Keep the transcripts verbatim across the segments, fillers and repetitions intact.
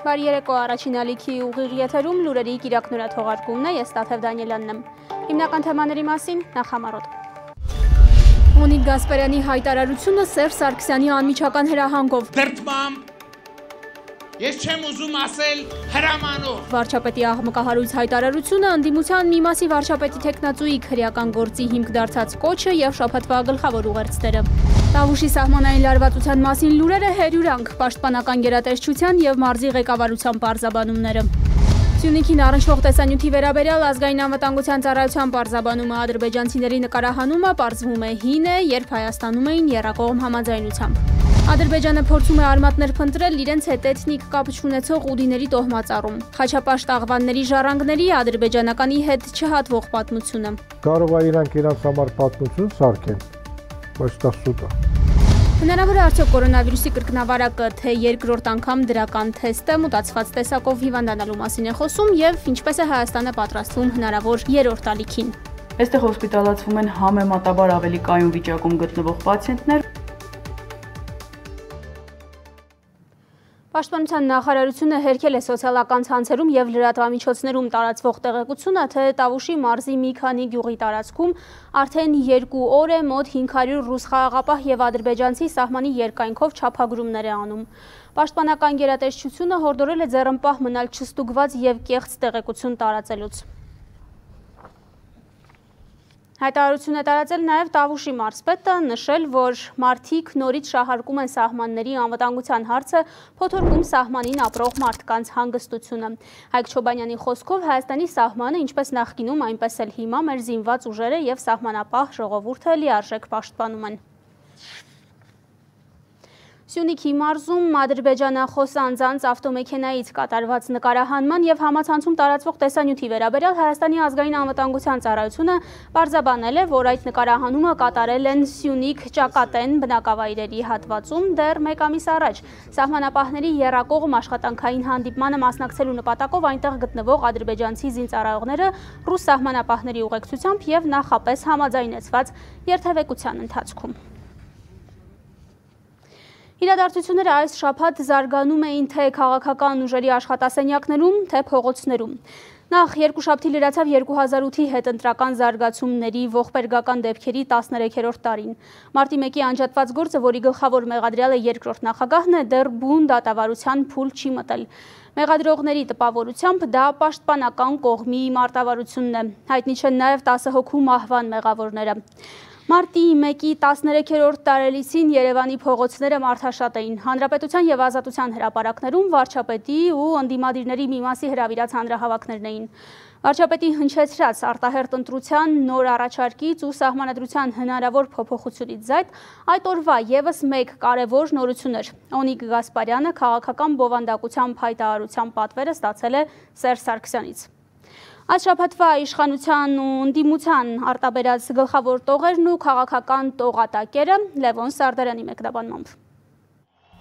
Բարի երեկո, առաջին ալիքի ուղիղ եթերում լուրերի կիրակնորա թողարկումն է, ես Տաթև Դանիելյանն եմ։ Հիմնական թեմաների մասին նախամարոտ։ Օնիկ Գասպարյանի հայտարարությունը Սերժ Սարգսյանի անմիջական հրահանգով։ Դրդմամբ ես չեմ ուզում ասել հրամանով։ Վարչապետի աղմկահարույց հայտարարությունը ընդդիմության մի մասի վարչապետի թեկնածուի քրեական գործի հիմք դարձած կոչը եւ շաբաթվա գլխավոր ուղերձները։ Տավուշի սահմանային լարվածության մասին լուրերը հերյուրանք, պաշտպանական գերատեսչության եւ մարզի ղեկավարության պարզաբանումները։ Սյունիքին առնչվող տեսանյութի վերաբերյալ ազգային անվտանգության ծառայության պարզաբանումը ադրբեջանցիների նկարահանումը պարզվում է հին է, երբ Հայաստանում էին եռակողմ համաձայնությամբ։ Ադրբեջանը փորձում է արմատներ փնտրել իրենց հետ էթնիկ կապ չունեցող ուդիների տոհմածառում։ Խաչապաշտ աղվանների ժառանգների ադրբեջանականի հետ չհատվող պատմությունը։ Կարող է իրանք իրենց համար պատմություն սարքեն, բայց դա սուտ է։ Հնարավոր է արդյոք կորոնավիրուսի կրկնավարակը, թե երկրորդ անգամ դրական թեստը մուտացված տեսակով հիվանդանալու մասին է խոսում եւ ինչպես է Հայաստանը պատրաստվում հնարավոր երրորդ ալիքին։ Այստեղ հոսպիտալացվում են համեմատաբար ավելի կայուն վիճակում գտնվող պացիենտներ։ Պաշտպանության նախարարությունը հերքել է սոցիալական ցանցերում եւ լրատվամիջոցներում տարածվող տեղեկությունը, թե Տավուշի մարզի մի քանի գյուղի տարածքում արդեն երկու օր է մոտ հինգ հարյուր ռուս խաղաղապահ եւ ադրբեջանցի սահմանի երկայնքով չափագրումներ է անում։ Պաշտպանական գերատեսչությունը հորդորել է ձեռնպահ մնալ չստուգված եւ կեղծ տեղեկություն տարածելուց։ Հայտարարություն է տարածել նաև Տավուշի մարզպետը, նշել, որ մարդիկ նորից շահարկում են սահմանների անվտանգության հարցը, փոթորկում սահմանին ապրող մարդկանց հանգստությունը։ Հայկ Չոբանյանի խոսքով Հայաստանի սահմանը, ինչպես նախկինում, այնպես էլ հիմա մեր զինված ուժերը եւ սահմանապահ ժողովուրդը լիարժեք պաշտպանում են։ Սյունիքի մարզում ադրբեջանախոս անձանց ավտոմեքենայից կատարված նկարահանման եւ համացանցում տարածվող տեսանյութի վերաբերյալ Հայաստանի ազգային անվտանգության ծառայությունը պարզաբանել է, որ այդ նկարահանումը կատարել են Սյունիք Ճակատեն բնակավայրերի հատվածում դեռ մեկ ամիս առաջ։ Սահմանապահների եռակողմ աշխատանքային հանդիպմանը մասնակցելու նպատակով այնտեղ գտնվող ադրբեջանցի զինծառայողները ռուս սահմանապահների ուղեկցությամբ եւ նախապես համաձայնեցված երթևեկության ընթացքում։ Իրադարձությունները այս շաբաթ զարգանում էին թե քաղաքական ուժերի աշխատասենյակներում, թե փողոցներում։ Նախ երկուշաբթի լրացավ երկու հազար ութի հետընտրական զարգացումների ողբերգական դեպքերի տասներեքերորդ տարին։ Մարտի մեկի անջատված գործը, որի գլխավոր մեղադրյալը երկրորդ նախագահն է, դեռ բուն դատավարության փուլ չի մտել։ Մեղադրողների տպավորությամբ դա պաշտպանական կողմի մարտավարությունն է։ Հայտնի չեն նաև տասը հոգու մահվան մեղավորները։ Մարտի մեկի տասներեքերորդ տարելիցին Երևանի փողոցները մարդաշատ էին։ Հանրապետության եւ Ազատության հրապարակներում վարչապետի ու ընդդիմադիրների մի մասի հրավիրած հանրահավաքներն էին։ Վարչապետի հնչեցրած արտահերտ ընտրության նոր առաջարկից ու սահմանադրության հնարավոր փոփոխությունից զայդ այդ օրվա եւս մեկ կարևոր նորություն էր։ Օնիկ Գասպարյանը քաղաքական բովանդակությամբ հայտարարության պատվերը ստացել է Սերժ Սարգսյանից։ Այս շաբաթվա իշխանության ու ընդդիմության արտաբերած գլխավոր տողերն ու քաղաքական տողատակերը Լևոն Սարդարյանի մեկնաբանմամբ։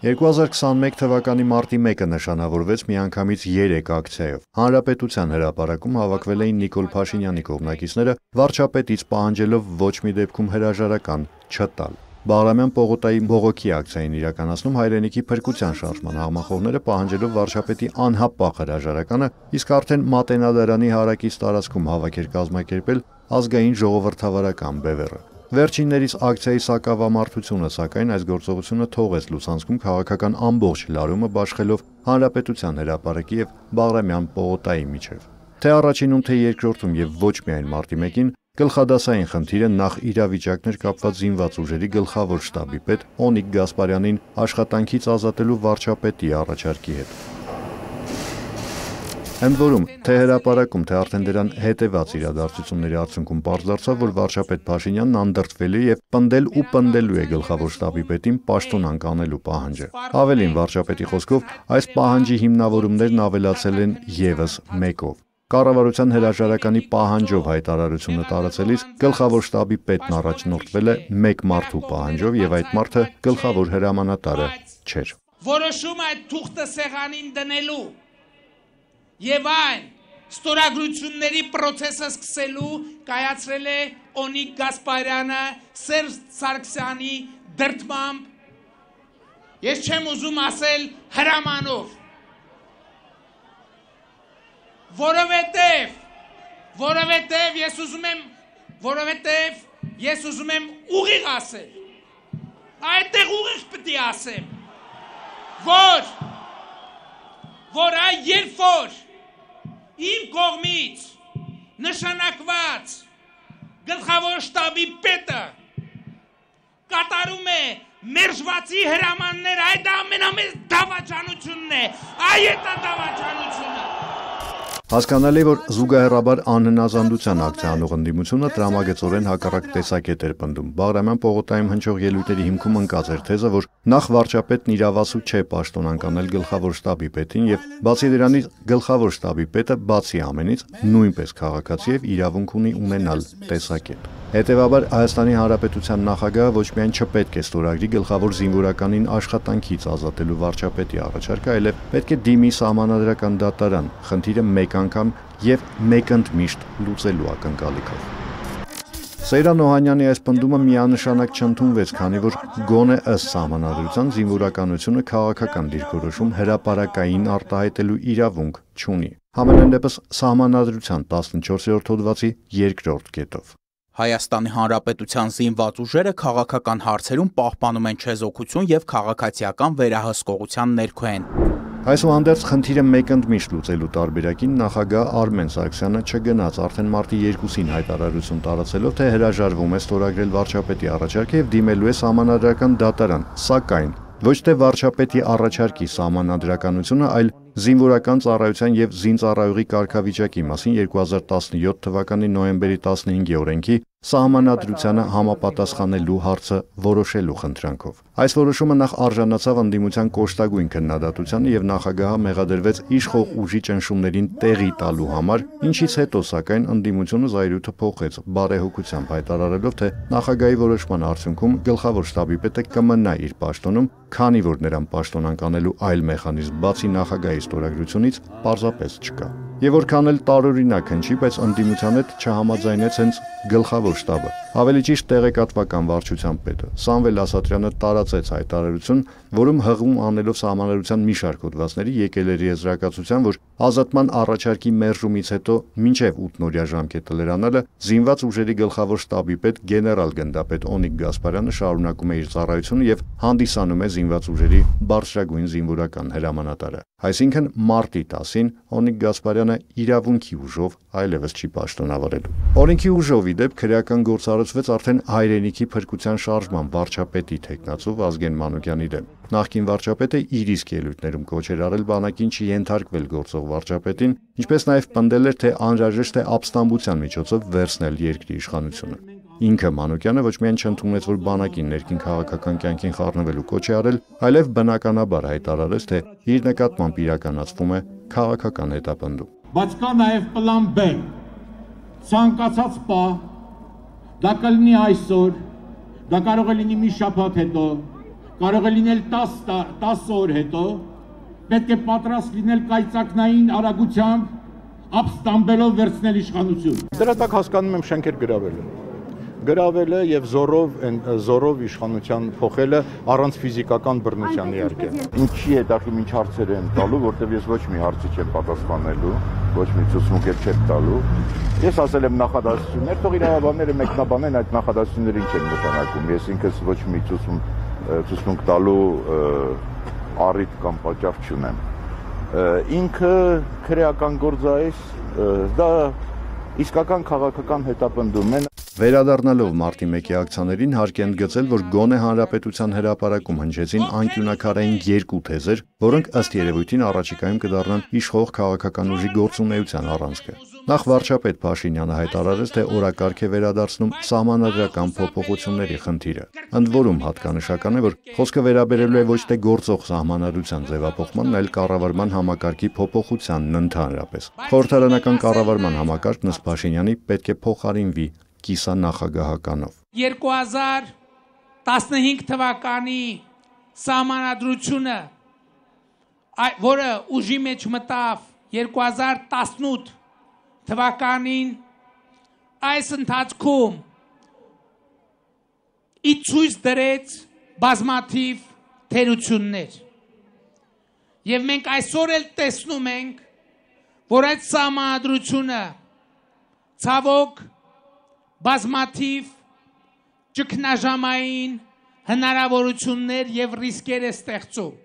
երկու հազար քսաներեք թվականի մարտի մեկը նշանավորվեց միանգամից երեք ակցիայով։ Հանրապետության հրապարակում հավաքվել էին Նիկոլ Փաշինյանի կողմնակիցները, վարչապետից պահանջելով ոչ մի դեպքում հրաժարական չտալ։ Բաղրամյան պողոտայի բողոքի ակցիային իրականացնում հայրենիքի փրկության շարժման հաղմախոհները պահանջելով վարչապետի անհապաղ հրաժարականը, իսկ արդեն Մատենադարանի հարակից տարածքում հավաք էր կազմակերպել ազգային ժողովրդավարական բևեռը։ Վերջիններից ակցիայի սակավամարտությունը, սակայն այս գործողությունը թողեց լուսանցքում քաղաքական ամբողջ լարումը բաշխելով Հանրապետության հրապարակի եւ Բաղրամյան պողոտայի միջև։ Թե առաջինում, թե երկրորդում եւ ոչ միայն մարտի մեկին գլխադասային խնդիրը նախ իրավիճակներ կապված զինված ուժերի գլխավոր շտաբի պետ Օնիկ Գասպարյանին աշխատանքից ազատելու վարչապետի առաջարկի հետ։ Ընդ որում, թե հրապարակում, թե արդեն դրան հետևած իրադարձությունների արդյունքում պարզ դարձավ, որ վարչապետ Փաշինյանն անդրդվել է եւ պնդել ու պնդելու է գլխավոր շտաբի պետին պաշտոնանկ անելու պահանջը։ Ավելին, վարչապետի խոսքով, այս պահանջի հիմնավորումներն ավելացել են եւս մեկով։ Կառավարության հրաժարականի պահանջով հայտարարությունը տարածելիս գլխավոր շտաբի պետն առաջնորդվել է մեկ մարդու պահանջով եւ այդ մարդը գլխավոր հրամանատարը չէր։ Որոշում այդ թուղթը սեղանին դնելու եւ այն ստորագրությունների process-ը սկսելու կայացրել է Օնիկ Գասպարյանը Սերժ Սարգսյանի դրդմամբ։ Ես չեմ ուզում ասել հրամանով։ որովհետև որովհետև ես ուզում եմ որովհետև ես ուզում եմ ուղիղ ասել, այդտեղ ուղիղ պետք է ասեմ, որ որ այ երբ որ իմ կողմից նշանակված գլխավոր շտաբի պետը կատարում է մերժվածի հրամաններ, այդ ամենամեծ դավաճանությունն է, այդ է դավաճանությունը։ Հասկանալի, որ զուգահեռաբար անհնազանդության ակցիանող ընդդիմությունը տրամագծորեն հակառակ տեսակետ էր պնդում։ Բաղրամյան պողոտայում հնչող ելույթների հիմքում ընկած էր թեզը, որ նախ վարչապետն իրավասու չէ պաշտոնանկանել գլխավոր շտաբի պետին եւ բացի դրանից գլխավոր շտաբի պետը բացի ամենից նույնպես քաղաքացի եւ իրավունք ունի ունենալ տեսակետ։ Հետևաբար Հայաստանի Հանրապետության նախագահը ոչ միայն չպետք է ստորագրի գլխավոր զինվորականին աշխատանքից ազատելու վարչապետի առաջարկը, այլև պետք է դիմի սահմանադրական դատարան, խնդիրը մեկ անգամ եւ մեկընդմիշտ լուծելու ակնկալիքով։ Սեյրան Օհանյանի այս պնդումը միանշանակ չընդունվեց, քանի որ գոնե ըստ սահմանադրության զինվորականությունը քաղաքական դիրքորոշում հրապարակային արտահայտելու իրավունք չունի։ Համենայն դեպս սահմանադրության տասնչորսերորդ հոդվածի երկրորդ կետով։ Հայաստանի Հանրապետության զինված ուժերը քաղաքական հարցերում պահպանում են չեզոքություն եւ քաղաքացիական վերահսկողության ներքո են։ Այսուհանդերձ խնդիրը մեկընդմիշտ լուծելու տարբերակին նախագահ Արմեն Սարգսյանը չգնաց արդեն մարտի երկուսին հայտարարություն տարածելով, թե հրաժարվում է ստորագրել վարչապետի առաջարկը եւ դիմելու է սահմանադրական դատարան, սակայն ոչ թե վարչապետի առաջարկի սահմանադրականությունը, այլ զինվորական ծառայության եւ զինծառայողի կարգավիճակի մասին երկու հազար տասնյոթ թվականի նոյեմբերի տասնհինգի օրենքի սահմանադրությանը համապատասխանելու հարցը որոշելու խնդրանքով։ Այս որոշումը նախ արժանացավ ընդդիմության կոշտագույն քննադատությանը եւ նախագահը մեղադրվեց իշխող ուժի ճնշումներին տեղի տալու համար, ինչից հետո սակայն ընդդիմությունը զայրույթը փոխեց, բարեհոգությամբ հայտարարելով, թե նախագահի որոշման արդյունքում գլխավոր շտաբի պետը կմնա իր պաշտոնում, քանի որ նրան պաշտոնանկանելու այլ մեխանիզմ բացի նախագահի ստորագրությունից պարզապես չկա։ Եվ որքան էլ տարօրինակ հնչի, բայց ընդդիմության հետ չհամաձայնեց հենց գլխավոր շտաբը։ Ավելի ճիշտ տեղեկատվական վարչության պետը Սամվել Ասատրյանը տարածեց հայտարարություն, որում հղում անելով սահմանադրության մի շարք հոդվածների եկել էր եզրակացության, որ ազատման առաջարկի մերժումից հետո մինչև ութնօրյա ժամկետը լրանալը զինված ուժերի գլխավոր շտաբի պետ գեներալ գնդապետ Օնիկ Գասպարյանը շարունակում է իր ծառայությունը եւ հանդիսանում է զինված ուժերի բարձրագույն զինվորական հրամանատարը։ Այսինքն մարտի տասին Օնիկ Գասպարյանը իրավունքի ուժով այլևս չի պաշտոնավարելու։ Օրենքի ուժով ի դեպ քրեական գործառույցվեց արդեն հայրենիքի փրկության շարժման վարչապետի թեկնածու Վազգեն Մանուկյանի դեմ։ Նախկին վարչապետը իր իսկ ելույթներում կոչ էր արել բանակին չենթարկվել գործող վարչապետին, ինչպես նաև պնդել էր, թե անհրաժեշտ է ապստամբության միջոցով վերցնել երկրի իշխանությունը։ Ինքը Մանուկյանը ոչ միայն չընդունեց, որ բանակին ներքին քաղաքական կյանքին խառնվելու կոչ է արել, այլև բնականաբար հայտարարեց, թե իր նկատմամբ իրականացվում է քաղաքական հետապնդում։ Բայց կա նաև պլան B, ցանկացած պահ, դա կլինի այսօր, դա կարող է լինի մի շաբաթ հետո, կարող է լինել տասը օր հետո, պետք է պատրաստ լինել կայծակնային արագությամբ ապստամբելով վերցնել իշխանություն։ Դրա տակ հասկանում եմ շենքեր գրավելը։ Գրավելը եւ զորով զորով իշխանության փոխելը առանց ֆիզիկական բռնության իհարկե։ Ինչի հետաքրքիր ինչ հարցեր են տալու, որտեվ ես ոչ մի հարցի չեմ պատասխանելու, ոչ մի ցուցմունք չեմ տալու։ Ես ասել եմ նախադասություններ, թող իրավաբանները մեկնաբանեն այդ նախադասությունները ինչ են նշանակում։ Ես ինքս ոչ մի ցուցմունք ցուցմունք տալու առիթ կամ պատճառ չունեմ։ Ինքը քրեական գործայից դա իսկական քաղաքական հետապնդում են։ Վերադառնալով մարտի մեկի ակցիաներին հարկ է ընդգծել, որ գոնե հանրապետության հրապարակում հնչեցին անկյունակարային երկու թեզեր, որոնք ըստ երևույթին առաջիկայում կդառնան իշխող քաղաքական ուժի գործունեության առանցքը։ Նախ վարչապետ Փաշինյանը հայտարարեց, թե օրակարգ է վերադարձնում սահմանադրական փոփոխությունների խնդիրը։ Ընդ որում հատկանշական է, որ խոսքը վերաբերելու է ոչ թե գործող սահմանադրության ձևափոխմանն, այլ կառավարման համակարգի փոփոխությանն ընդհանրապես։ Խորհրդարանական կառավարման համակարգն ըստ Փաշինյանի պետք է փոխարինվի կիսանախագահականով։ երկու հազար տասնհինգ թվականի սահմանադրությունը, որը ուժի մեջ մտավ երկու հազար տասնութ թվականին, այս ընթացքում ի ցույց դրեց բազմաթիվ թերություններ։ Եվ մենք այսօր էլ տեսնում ենք, որ այդ սահմանադրությունը ցավոք բազմաթիվ ճգնաժամային հնարավորություններ եւ ռիսկեր է ստեղծում։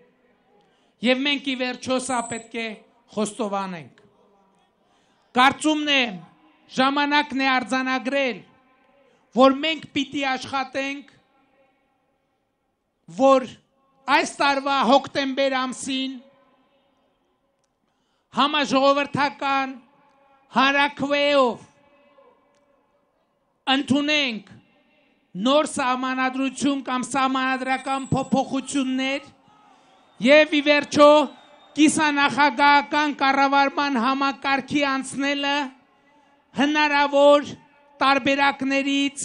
Եվ մենք ի վերջո սա պետք է խոստովանենք։ Կարծումն է ժամանակն է արձանագրել, որ մենք պիտի աշխատենք, որ այս տարվա հոկտեմբեր ամսին համաժողովրդական հանրաքվեով ընդունենք նոր սահմանադրություն կամ սահմանադրական փոփոխություններ եւ ի վերջո կիսանախագահական կառավարման համակարգի անցնելը հնարավոր տարբերակներից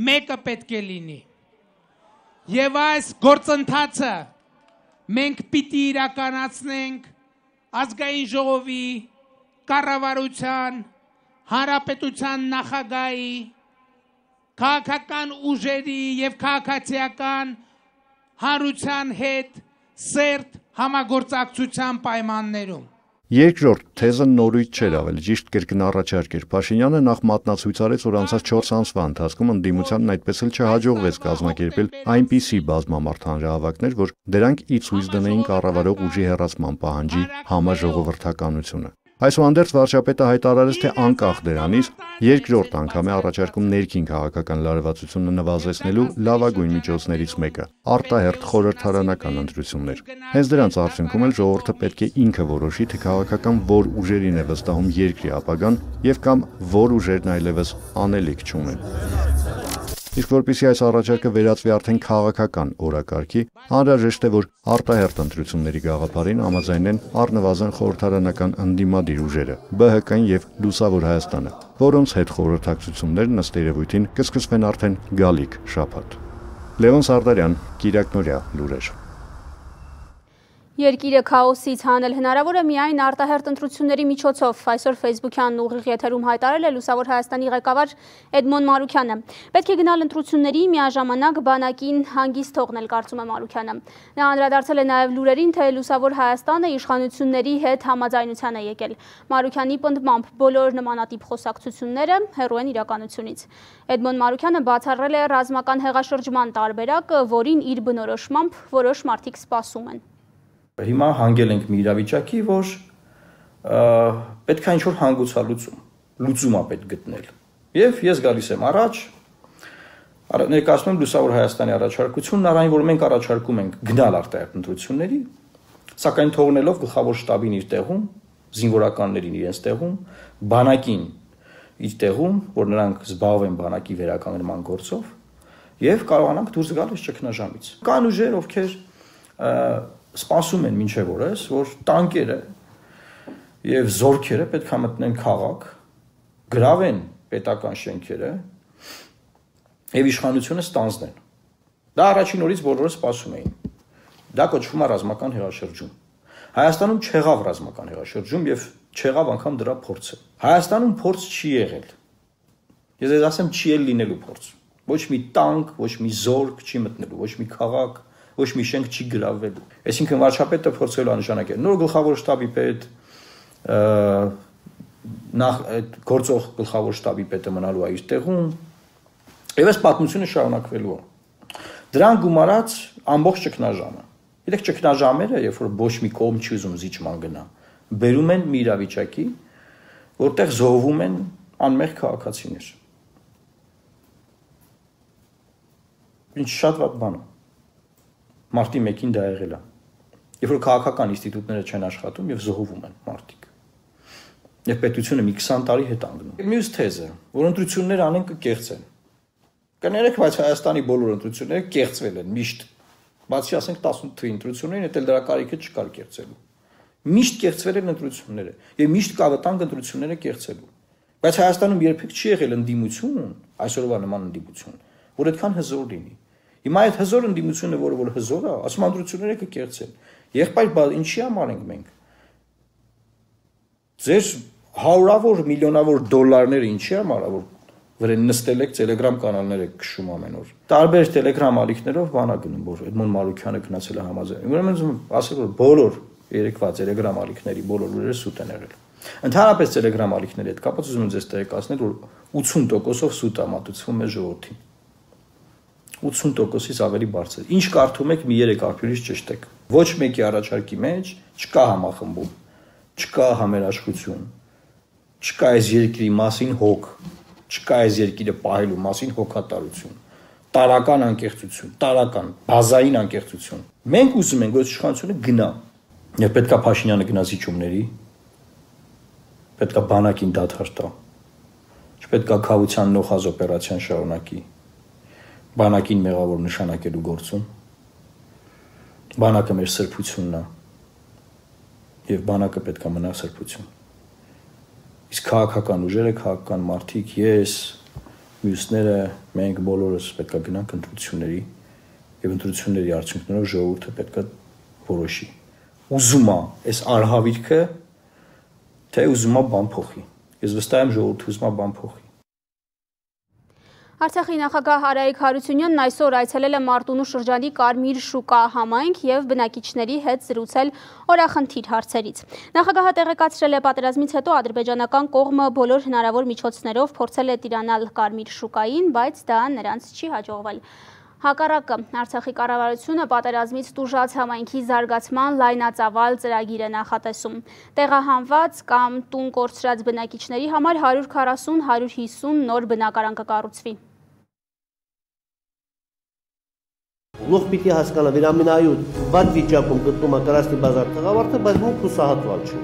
մեկը պետք է լինի։ Եվ այս գործընթացը մենք պիտի իրականացնենք ազգային ժողովի, կառավարության, հանրապետության նախագահի, քաղաքական ուժերի եւ քաղաքացիական հանրության հետ սերտ համագործակցության պայմաններում։ Երկրորդ թեզը նորույթ չէր, ավելի ճիշտ կրկնառաջարկ էր։ Փաշինյանը նախ մատնացույց արեց, որ անցած չորս ամսվա ընթացքում ընդդիմությանն այդպես էլ չհաջողվեց կազմակերպել այնպիսի բազմամարդ հանրահավաքներ, որ դրանք ի ցույց դնեին կառավարող ուժի հեռացման պահանջի համաժողովրդականությունը։ Այսուհանդերձ վարչապետը հայտարարեց, թե անկախ դրանից երկրորդ անգամ է առաջարկում ներքին քաղաքական լարվածությունը նվազեցնելու լավագույն միջոցներից մեկը՝ արտահերթ խորհրդարանական ընտրություններ։ Հենց դրանց արդյունքում էլ ժողովուրդը պետք է ինքը որոշի, թե քաղաքական որ ուժերին է վստահում երկրի ապագան եւ կամ որ ուժերն այլևս անելիք չունեն։ Իսկ որպեսզի այս առաջարկը վերածվի արդեն քաղաքական օրակարգի, անհրաժեշտ է, որ արտահերթ ընտրությունների գաղափարին համաձայնեն առնվազն խորհրդարանական ընդդիմադիր ուժերը՝ B H K-ն եւ Լուսավոր Հայաստանը, որոնց հետ խորհրդակցություններն ըստ երևույթին կսկսվեն արդեն գալիք շաբաթ։ Լևոն Սարդարյան, Կիրակ Նորյա, լուրեր։ Երկիրը քաոսից հանել հնարավոր է միայն արտահերթ ընտրությունների միջոցով, այսօր Facebook-յան ուղիղ եթերում հայտարարել է Լուսավոր Հայաստանի ղեկավար Էդմոն Մարուքյանը։ Պետք է գնալ ընտրությունների, միաժամանակ բանակին հանգիստ թողնել, կարծում է Մարուքյանը։ Նա անդրադարձել է նաև լուրերին, թե Լուսավոր Հայաստանը իշխանությունների հետ համաձայնության է եկել։ Մարուքյանի պնդմամբ բոլոր նմանատիպ խոսակցությունները հեռու են իրականությունից։ Էդմոն Մարուքյանը բացառել է ռազմական հեղաշրջման տարբերակը, որին իր բնորոշմամբ որոշ մարդիկ սպասում են։ Հիմա հանգել ենք մի իրավիճակի, որ պետք է ինչ-որ հանգուցալուծում, լուծում է պետք գտնել։ Եվ ես գալիս եմ առաջ, ներկայացնում եմ Լուսավոր Հայաստանի առաջարկությունն, առայն որ մենք առաջարկում ենք գնալ արտահերթ ընտրությունների, սակայն թողնելով գլխավոր շտաբին իր տեղում, զինվորականներին իրենց տեղում, բանակին իր տեղում, որ նրանք զբաղվեն բանակի վերականգնման գործով, եւ կարողանանք դուրս գալ այս ճգնաժամից։ Կան ուժեր, ովքեր սպասում են մինչև օրս, որ տանկերը եւ զորքերը պետք է մտնեն քաղաք, գրավեն պետական շենքերը եւ իշխանությունը ստանձնեն։ Դա առաջին օրից բոլորը սպասում էին։ Դա կոչվում է ռազմական հեղաշրջում։ Հայաստանում չեղավ ռազմական հեղաշրջում եւ չեղավ անգամ դրա փորձը։ Հայաստանում փորձ չի եղել։ Ես ես ասեմ չի էլ լինելու փորձ։ Ոչ մի տանկ, ոչ մի զորք չի մտնելու, ոչ մի քաղաք, ոչ մի շենք չի գրավվելու։ Այսինքն վարչապետը փորձելու անշանակել նոր գլխավոր շտաբի պետ, նախ այդ գործող գլխավոր շտաբի պետը մնալու է իր տեղում, եւ այս պատմությունը շարունակվելու է։ Դրան գումարած ամբողջ ճգնաժամը։ Գիտեք, ճգնաժամերը, երբ որ ոչ մի կողմ չի ուզում զիջման գնա, բերում են մի իրավիճակի, որտեղ զոհվում են անմեղ քաղաքացիներ։ Ինչ շատ վատ բան է։ Մարտի մեկին դա եղել է։ Երբ որ քաղաքական ինստիտուտները չեն աշխատում եւ զոհվում են մարդիկ։ Եվ պետությունը մի քսան տարի հետ անգնում։ Մյուս թեզը, որ ընտրություններ անեն կկեղծեն։ Կներեք, բայց Հայաստանի բոլոր ընտրությունները կեղծվել են միշտ։ Բացի ասենք տասնութ թվականի ընտրություններին, դա դրա կարիքը չկար կեղծելու։ Միշտ կեղծվել են ընտրությունները եւ միշտ կա վտանգ ընտրությունները կեղծելու։ Բայց Հայաստանում երբեք չի եղել ընդդիմություն, այսօրվա նման ընդդիմություն, որ այդքան հզոր լինի։ Հիմա այդ հզոր ընդդիմությունը, որը որ հզոր է, ասում ընտրությունները կկեղծեն։ Եղբայր, ինչի համար ենք մենք։ Ձեր հարյուրավոր միլիոնավոր դոլարները ինչի համար, որ վրան նստել եք Telegram կանալներ եք քշում ամեն օր։ Տարբեր Telegram ալիքներով բանա գնում, որ Էդմոն Մարուքյանը գնացել է համաձայն։ Ուրեմն ասել որ բոլոր երեկվա Telegram ալիքների բոլոր լուրերը սուտ են եղել։ Ընդհանրապես Telegram ալիքների հետ կապված ուզում եմ ձեզ տեղեկացնել, որ ութսուն տոկոսով սուտ է մատուցվում մեր ժողովրդին։ ութսուն տոկոսից ավելի բարձր։ Ինչ կարդում եք, մի երեք աղբյուրից ճշտեք։ Ոչ մեկի առաջարկի մեջ չկա համախմբում, չկա համերաշխություն, չկա այս երկրի մասին հոգ, չկա այս երկիրը պահելու մասին հոգատարություն, տարական անկեղծություն, տարական, բազային անկեղծություն։ Մենք ուզում ենք, որ իշխանությունը գնա։ Եվ պետքա Փաշինյանը գնա զիջումների, պետքա բանակին դադար տա, չպետքա քավության նոխազ օպերացիան շարունակի, բանակին մեղավոր նշանակելու գործում, բանակը մեր սրբությունն է, և բանակը պետքա մնա սրբություն։ Իսկ քաղաքական ուժերը, քաղաքական մարդիկ, ես, մյուսները, մենք բոլորս պետքա գնանք ընտրությունների, և ընտրությունների արդյունքներով ժողովուրդը պետքա որոշի։ Ուզում է այս արհավիրքը, թե ուզում է բան փոխի։ Ես վստահ եմ ժողովուրդը ուզում է բան փոխի։ Արցախի նախագահ Արայիկ Հարությունյանն այսօր այցելել է Մարտունու շրջանի Կարմիր շուկա համայնք և բնակիչների հետ զրուցել օրախնդիր հարցերից։ Նախագահը տեղեկացրել է պատերազմից հետո ադրբեջանական կողմը բոլոր հնարավոր միջոցներով փորձել է տիրանալ Կարմիր շուկային, բայց դա նրանց չի հաջողվել։ Հակառակը Արցախի կառավարությունը պատերազմից տուժած համայնքի զարգացման լայնածավալ ծրագիր է նախատեսում։ Տեղահանված կամ տուն կորցրած բնակիչների համար հարյուր քառասուն - հարյուր հիսուն նոր բնակարան կկառուցվի։ Լուղ պիտի հասկանա, որ ամենայոց վատ վիճակում գտնում է Կրասնի բազար տղավարդը, բայց մուք հուսահատված չի։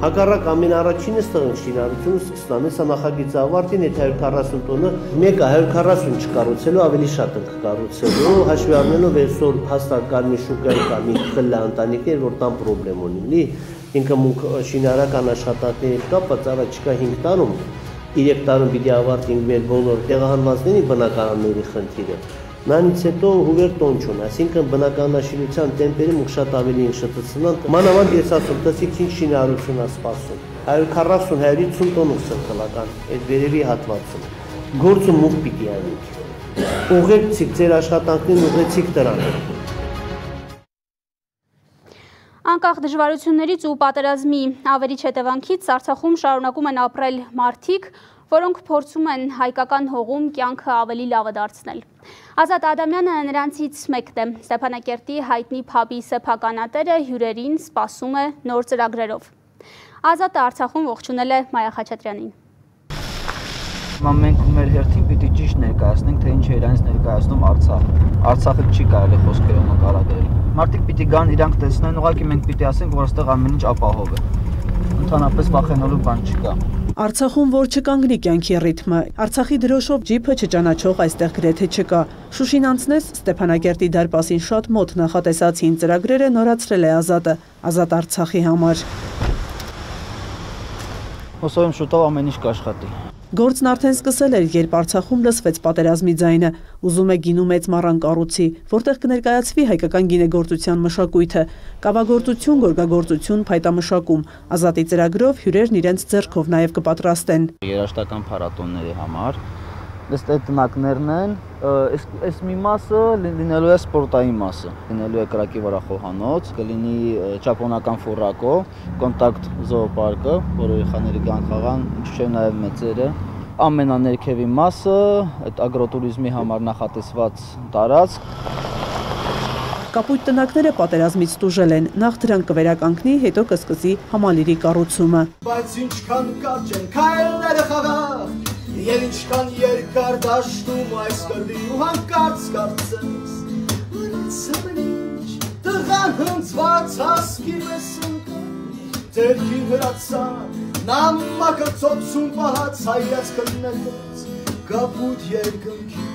Հակառակ ամենաառաջինը ստեղն շինարարությունը սկսնան է, սա նախագիծը ավարտին, եթե հարյուր քառասուն տոնը, մեկը հարյուր քառասուն չկառուցելու, ավելի շատ ենք կառուցելու, հաշվի առնելով այսօր հաստատ Կարմիր շուկայի կա մի խլա ընտանիքներ, որ տան պրոբլեմ ունի, ինքը մուք շինարարական աշխատանքների հետ կապված առաջիկա հինգ տարում, երեք տարում պիտի ավարտենք մեր բոլոր տեղահանվածների բնակարանների խնդիրը։ Նրանից հետո հուվեր տոն չուն, այսինքն բնականաշինության տեմպերը մուք շատ ավելի են շտցնան, մանավանդ ես ասում, տսիք ինչ շինարարություն է սպասում, հարյուր քառասուն - հարյուր հիսուն տոն սրտալական, այդ վերևի հատվածում, գործում մուք պիտի անենք, ուղեցիք ձեր աշխատանքներին, ուղեցիք դրան։ Անկախ դժվարություններից ու պատերազմի ավերիչ հետևանքից Արցախում շարունակում են ապրել մարդիկ, որոնք փորձում են հայկական հողում կյանքը ավելի լավը դարձնել։ Ազատ Ադամյանը նրանցից մեկն է։ Ստեփանակերտի հայտնի փաբի սեփականատերը հյուրերին սպասում է նոր ծրագրերով։ Ազատը Արցախում ողջունել է Մայա Խաչատրյանին։ Մենք մեր հերթին պիտի ճիշտ ներկայացնենք, թե ինչ է իրանց ներկայացնում Արցախը։ Արցախը չի կարելի խոսքերով նկարագրել։ Մարդիկ պիտի գան, իրանք տեսնեն, ուղղակի մենք պիտի ասենք, որ այստեղ ամեն ինչ ապահով է։ Ընդհանրապես վախենալու բան չկա։ Արցախում որ չկանգնի կյանքի ռիթմը, Արցախի դրոշով ջիփը չճանաչող այստեղ գրեթե չկա։ Շուշին անցնես Ստեփանակերտի դարպասին շատ մոտ նախատեսած հին ծրագրերը նորացրել է Ազատը, Ազատ Արցախի համար։ Հուսով եմ շուտով ամեն ինչ կաշխատի։ Գործն արդեն սկսել էր, երբ Արցախում լսվեց պատերազմի ձայնը, ուզում է գինու մեծ մառան կառուցի, որտեղ կներկայացվի հայկական գինեգործության մշակույթը, կավագործություն, գորգագործություն, փայտամշակում, Ազատի ծրագրով հյուրերն իրենց ձեռքով նաև կպատրաստեն։ Երաժշտական փառատոնների համար ըստ այդ տնակներն են, այս մի մասը լինելու է սպորտային մասը, լինելու է կրակի վրա խոհանոց, կլինի ճապոնական ֆուրակո, կոնտակտ զոոպարկը, որը երեխաները կան խաղան, ինչու՞ չէ նաև մեծերը, ամենաներքևի մասը, այդ ագրոտուրիզմի համար նախատեսված տարածք։ Կապույտ տնակները պատերազմից տուժել են, նախ դրանք կվերականգնի, հետո կսկսի համալիրի կառուցումը։ Բայց ինչքան կարճ են քայլերը խաղաղ, եւ ինչքան երկար դաշտում այս կրվի ու հանկարծ կարծես, որ այդ սմրիչ տղան հնձված հասկի մեզ ընկան, դերքի հրացան, նամակը ծոցում պահած հայաց կլնետեց, կապույտ երկնքի։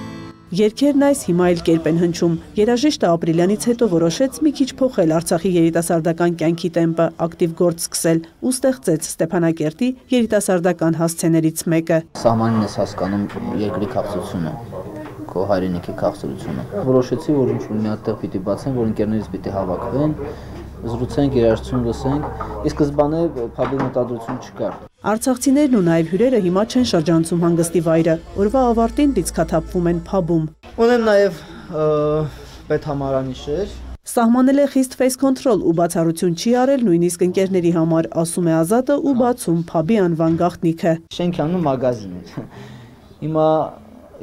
Երգերն այս հիմա էլ կերպ են հնչում։ Երաժիշտը ապրիլյանից հետո որոշեց մի քիչ փոխել Արցախի երիտասարդական կյանքի տեմպը, ակտիվ գործ սկսել ու ստեղծեց Ստեփանակերտի երիտասարդական հասցեներից մեկը։ Սահմանին ես հասկանում երկրի քաղցրությունը, քո հայրենիքի քաղցրությունը։ Որոշեցի, որ ինչ-որ մի հատ տեղ պիտի բացեն, որ ընկերներից պիտի հավաքվեն, զրուցենք, երաժշտություն լսենք։ Ի սկզբանե փաբի մտադրություն չկար։ Արցախցիներն ու նաև հյուրերը հիմա չեն շրջանցում հանգստի վայրը, օրվա ավարտին լիցքաթափվում են փաբում։ Ունեմ նաև պետհամարանիշեր։ Սահմանել է խիստ face control ու բացառություն չի արել նույնիսկ ընկերների համար, ասում է Ազատը ու բացում փաբի անվան գաղտնիքը։ Շենքանում մագազին է։ Հիմա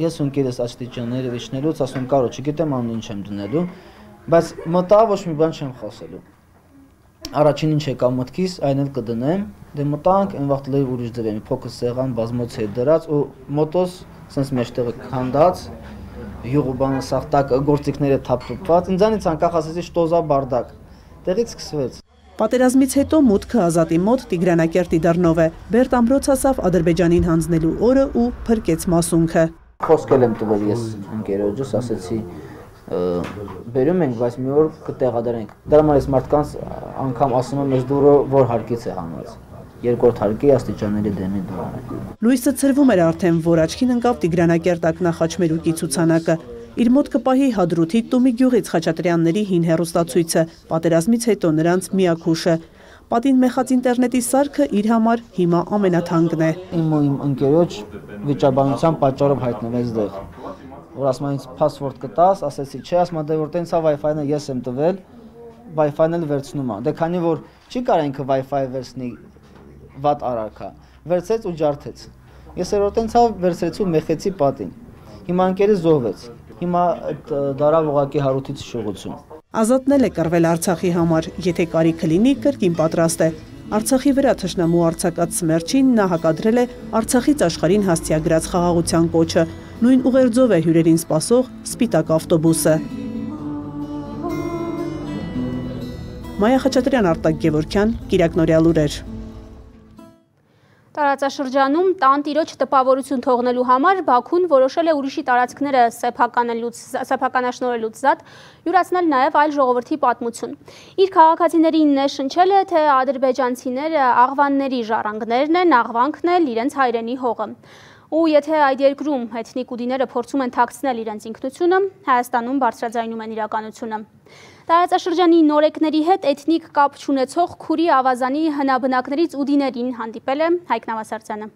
ես ու ընկերս աստիճանները վիճնելուց ասում կարո չգիտեմ անում ինչ եմ դնելու, բայց մտա ոչ մի բան չեմ խոսելու։ Առաջին ինչ եկա մտքիս, այն էլ կդնեմ, դե մտանք, այն վաղ լեյ ուրիշ դրեմ, փոքր սեղան բազմոց հետ դրած ու մոտոս սենց մեջտեղը քանդած, յուղ ու բանը սախտակ գործիքները թափթփված, ինձանից անկախ ասեցի շտոզա բարդակ։ Տեղից սկսվեց։ Պատերազմից հետո մուտքը Ազատի մոտ Տիգրանակերտի դռնով է։ Բերտ ամրոց ասավ Ադրբեջանին հանձնելու օրը ու փրկեց մասունքը։ Խոսքել եմ տվել ես ընկերոջս, ասեցի բերում ենք, բայց մի օր կտեղադրենք։ Դրա համար ես մարդկանց անգամ ասում եմ ես դուրը որ հարկից է հանված։ Երկրորդ հարկի աստիճանների դեմի դուրը։ Լույսը ցրվում էր արդեն, որ աչքին ընկավ Տիգրանակերտ ակնախաչմերուկի ցուցանակը։ Իր մոտ կպահի Հադրութի Տումի գյուղից Խաչատրյանների հին հեռուստացույցը, պատերազմից հետո նրանց միակ հուշը։ Պատին մեխած ինտերնետի սարքը իր համար հիմա ամենաթանկն է։ Իմ ու իմ ընկերոջ վիճաբանության պատճառով հայտնվեց դեղ։ Որ ասում ինձ փասվորդ կտաս, ասեցի, չէ, ասում դե որ տենց է Wi-Fi-ը ես եմ տվել, Wi-Fi-ն էլ վերցնում է։ Դե քանի որ չի կարող ինքը Wi-Fi վերցնի վատ արարքա, վերցեց ու ջարդեց։ Ես էր որ տենց է վերցրեցի ու մեխեցի պատին։ Հիմա ընկերս զոհվեց։ Հիմա այդ դարավ ուղակի հարութից շողություն։ Ազատն էլ է կռվել Արցախի համար, եթե կարիքը լինի, կրկին պատրաստ է։ Արցախի վրա թշնամու արձակած սմերչին նա հակադրել է Արցախից աշխարհին հասցեագրած խաղաղության կոչը, նույն ուղերձով է հյուրերին սպասող սպիտակ ավտոբուսը։ Մայա Խաչատրյան, Արտակ Գևորգյան, Կիրակնորյա լուրեր։ Տարածաշրջանում տան տիրոջ տպավորություն թողնելու համար Բաքուն որոշել է ուրիշի տարածքները սեփականաշնորհելուց զատ յուրացնել նաև այլ ժողովրդի պատմություն։ Իր քաղաքացիներին նշնչել է, թե ադրբեջանցիները աղվանների ժառանգներն են, աղվանքն էլ իրենց հայրենի հողը։ Ու եթե այդ երկրում էթնիկ ուդիները փորձում են թաքցնել իրենց ինքնությունը, Հայաստանում բարձրաձայնում են իրականությունը։ Տարածաշրջանի նորեկների հետ էթնիկ կապ չունեցող Քուրի ավազանի հնաբնակներից ուդիներին հանդիպել է Հայկ Նավասարդյանը։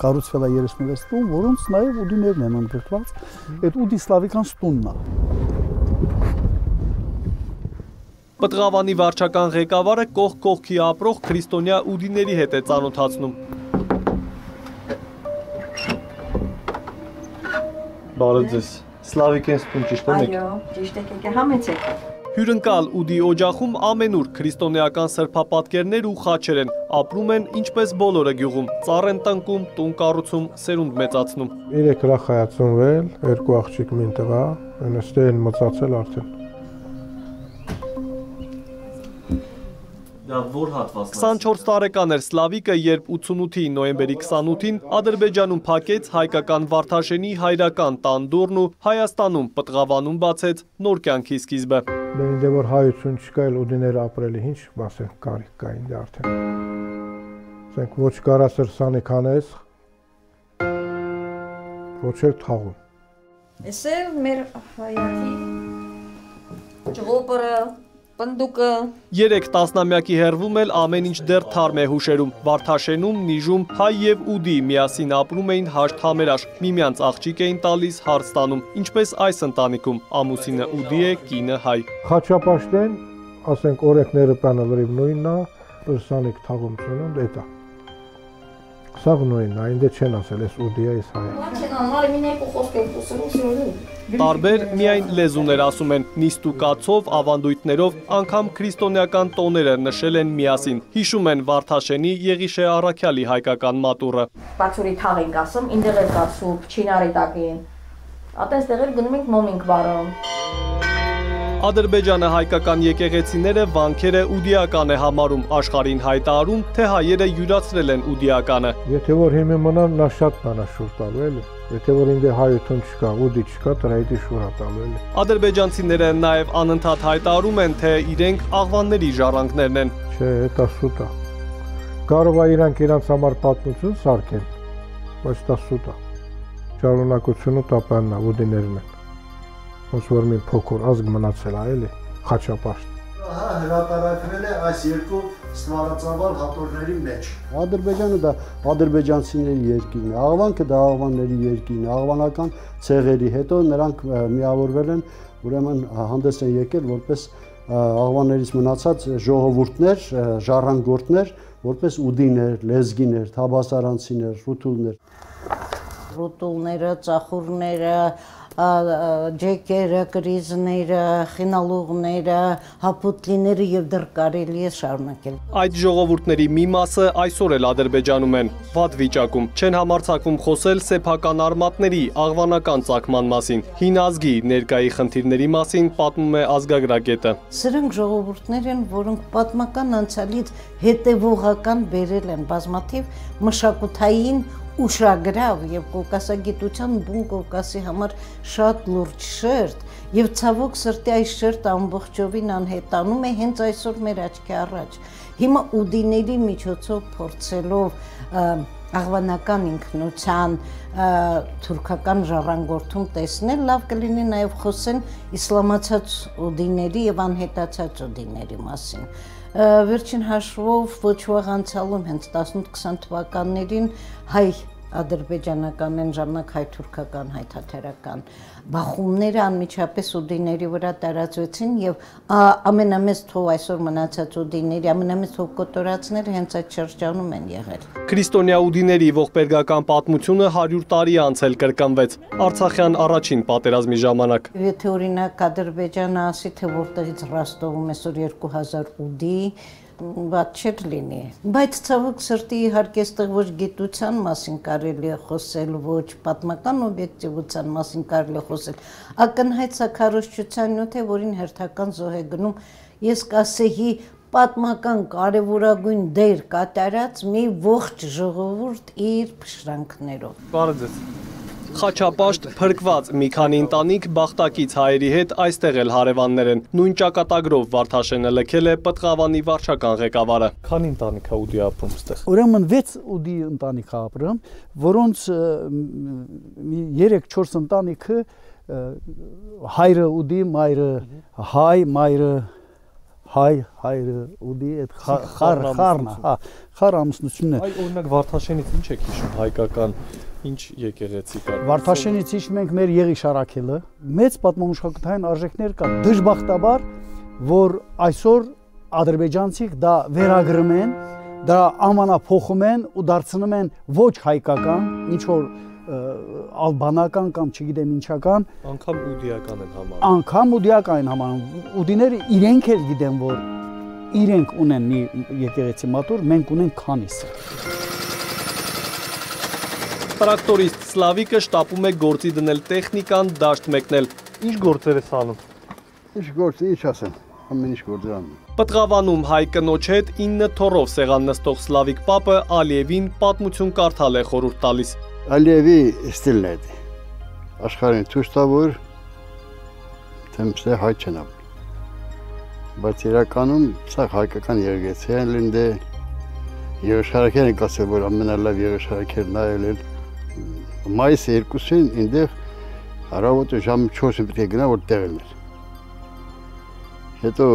Կառուցվել է երեսունվեց տուն, որոնց նաև ուդիներն են ընդգրկված, այդ ուդիսլավիկան տունն է։ Պտղավանի վարչական ղեկավարը կողք կողքի ապրող քրիստոնյա ուդիների հետ է ծանոթացնում։ Բարև ձեզ, Սլավիկ են ստուն ճիշտ եք։ Այո, ճիշտ եք, եկե համեցեք։ Հյուրընկալ ուդի օջախում ամենուր քրիստոնեական սրբապատկերներ ու խաչեր են, ապրում են ինչպես բոլորը գյուղում, ծառ են տնկում, տուն կառուցում, սերունդ մեծացնում։ Երեք հրախայացնվել, երկու աղջիկ մին տղա, այնստեղ են մծացել արդեն։ քսանչորս տարեկան էր Սլավիկը, երբ ութսունութի նոյեմբերի քսանութին Ադրբեջանում փակեց հայկական Վարդաշենի հայրական տան դուռն ու Հայաստանում Պտղավանում բացեց նոր կյանքի սկիզբը։ Դե որ հայություն չկա, էլ ուդիները ապրելի ինչ, ասենք կարիք կային դե արդեն։ Ասենք ոչ կարասր սանեքանես, ոչ էլ թաղում։ Էս է մեր հայացի ջղոպրը Պնդուկը Երեք տասնամյակի հեռվում էլ ամեն ինչ դեռ թարմ է հուշերում։ Վարդաշենում, Նիժում հայ և ուդի միասին ապրում էին հաշտ համերաշ, միմյանց աղջիկ էին տալիս, հարց տանում, ինչպես այս ընտանիքում, ամուսինը ուդի է, կինը հայ։ Խաչապաշտեն, ասենք օրենքները պանը լրիվ նույնն է, պրսանիք թաղում ծունում, դետա։ Սաղ նույնն է, ինձ չեն ասել, ես ուդի է, ես հայ է։ Տարբեր միայն լեզուներ ասում են, նիստ ու կացով, ավանդույթներով, անգամ քրիստոնեական տոները նշել են միասին, հիշում են Վարդաշենի Եղիշե Առաքյալի հայկական մատուռը։ Բացուրի թաղ ենք ասում, ինդեղ էլ կա սուպ, չինարի տակին, ատենց տեղեր գնում ենք մոմ ենք վարում։ Ադրբեջանը հայկական եկեղեցիները վանքերը ուդիական է համարում, աշխարհին հայտարարում, թե հայերը յուրացրել են ուդիականը։ Եթե որ հիմա մնան, նա շատ մանա շուր տալու էլի։ Եթե որ ինձ հայություն չկա, ուդի չկա, դրա հետի շուր տալու էլի։ Ադրբեջանցիները նաև անընդհատ հայտարարում են, թե իրենք աղվանների ժառանգներն են։ Չէ, դա սուտ է։ Կարող է իրանք իրանց համար պատմություն սարքեն, բայց դա սուտ է։ Շարունակությունը տապանն է, ուդիներն են։ Ոնց որ մի փոքր ազգ մնացել է, էլի, Խաչապաշտ։ Հա, հրատարակվել է այս երկու ստվարածավալ հատորների մեջ։ Ադրբեջանը դա ադրբեջանցիների երկիրն է, Աղվանքը դա աղվանների երկիրն է, աղվանական ցեղերի հետո նրանք միավորվել են, ուրեմն հանդես են եկել որպես աղվաններից մնացած ժողովուրդներ, ժառանգորդներ, որպես ուդիներ, լեզգիներ, թաբասարանցիներ, ռուտուլներ։ Ռուտուլները, ծախուրները, ջեկերը, կրիզները, խինալուղները, հապուտլիները եւ դեռ կարելի է շարունակել։ Այդ ժողովուրդների մի մասը այսօր էլ Ադրբեջանում են, վատ վիճակում, չեն համարձակվում խոսել սեփական արմատների, աղվանական ծագման մասին։ Հին ազգի ներկայի խնդիրների մասին պատմում է ազգագրագետը։ Սրանք ժողովուրդներ են, որոնք պատմական անցյալից հետևողական բերել են բազմաթիվ մշակութային ուշագրավ եւ կովկասագիտության բուն Կովկասի համար շատ լուրջ շերտ եւ ցավոք սրտի այս շերտը ամբողջովին անհետանում է հենց այսօր մեր աչքի առաջ։ Հիմա ուդիների միջոցով փորձելով աղվանական ինքնության թուրքական ժառանգորդում տեսնել, լավ կլինի նաեւ խոսեն իսլամացած ուդիների եւ անհետացած ուդիների մասին։ Վերջին հաշվով ոչ վաղ անցյալում հենց տասնութ քսան թվականներին հայ ադրբեջանական են ժամանակ հայ-թուրքական, հայ-թաթերական բախումները անմիջապես ուդիների վրա տարածվեցին եւ ամենամեծ թող այսօր մնացած ուդիների ամենամեծ թող կոտորածները հենց այդ շրջանում են եղել։ Քրիստոնյա ուդիների ողբերգական պատմությունը հարյուր տարի անց էլ կրկնվեց Արցախյան առաջին պատերազմի ժամանակ։ Եթե օրինակ Ադրբեջանը ասի, թե որտեղից Ռոստովում այսօր երկու հազար ուդի բաց չէր լինի, բայց ցավոք սրտի իհարկե այստեղ ոչ գիտության մասին կարելի է խոսել, ոչ պատմական օբյեկտիվության մասին կարելի է խոսել, ակնհայտ սակարոշչության նյութ է, որին հերթական զոհ է գնում, ես կասեի պատմական կարևորագույն դեր կատարած մի ողջ ժողովուրդ իր փշրանքներով։ Բարև ձեզ։ Խաչապաշտ փրկված մի քանի ընտանիք բախտակից հայերի հետ այստեղ էլ հարևաններ են։ Նույն ճակատագրով Վարդաշենը լքել է Պտղավանի վարչական ղեկավարը։ Քանի ընտանիք է ուդի ապրում այստեղ։ Ուրեմն վեց ուդի ընտանիք ապրում, որոնց երեք չորս ընտանիքը հայրը ուդի, մայրը հայ, մայրը հայ, հայրը ուդի, այդ խառն, հա, խառ ամուսնությունն է։ Այ օրինակ Վարդաշենից ինչ եք հիշում հայկական ինչ եկեղեցի կա։ Վարդաշենից հիշում ենք մեր Եղիշարաքելը, մեծ պատմամշակութային արժեքներ կան։ Դժբախտաբար, որ այսօր ադրբեջանցիք դա վերագրում են, դա անվանափոխում են ու դարձնում են ոչ հայկական, ինչ որ ալբանական կամ չգիտեմ ինչական, անգամ ուդիական են համարում։ Անգամ ուդիական են համարում։ Ուդիները իրենք էլ գիտեն, որ իրենք ունեն մի եկեղեցի մատուր, մենք ունենք քանիսը։ Տրակտորիստ Սլավիկը շտապում է գործի դնել տեխնիկան, դաշտ մեկնել։ Ինչ գործեր է անում։ Ինչ գործ, ինչ ասեմ, ամեն ինչ գործեր անում։ Պտղավանում հայ կնոջ հետ ինը թորով սեղան նստող Սլավիկ պապը Ալիևին պատմություն կարդալ է խորհուրդ տալիս։ Ալիևի ստիլն է դա։ Աշխարհին ցույց տա, որ թեմսը հայ չեն ապրում։ Բայց իրականում սա հայկական եկեղեցի է լինդե Եղիշարաքերն կասել, որ ամենալավ Եղիշարաքերն այլ էլ մայիսի երկուսին ինձ հարավոտը ժամը չորսին պետք է գնա, որ տեղ էր։ Հետո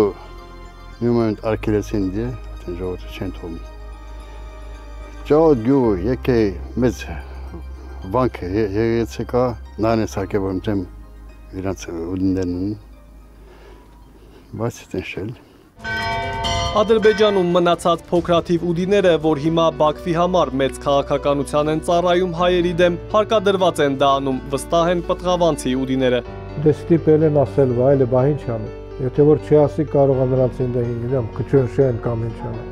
մի մոմենտ արկելեցին դե, այդեն ժողովուրդը չեն թողնում։ Ճաոտ գյուղը եկե մեծ վանք եկեցի կա, նան է սարքե, որ մտեմ իրանց ուդիններն ունի, բայց այդեն շել։ Ադրբեջանում մնացած փոքրաթիվ ուդիները, որ հիմա Բաքվի համար մեծ քաղաքականության են ծառայում հայերի դեմ, հարկադրված են դա անում, վստահ են պտղավանցի ուդիները։ Դե ստիպել են ասել, այլ բա ինչ անում։ Եթե որ չի ասի, կարող է նրանց ինձ հինգրամ քչունշեն կամ ինչ անում։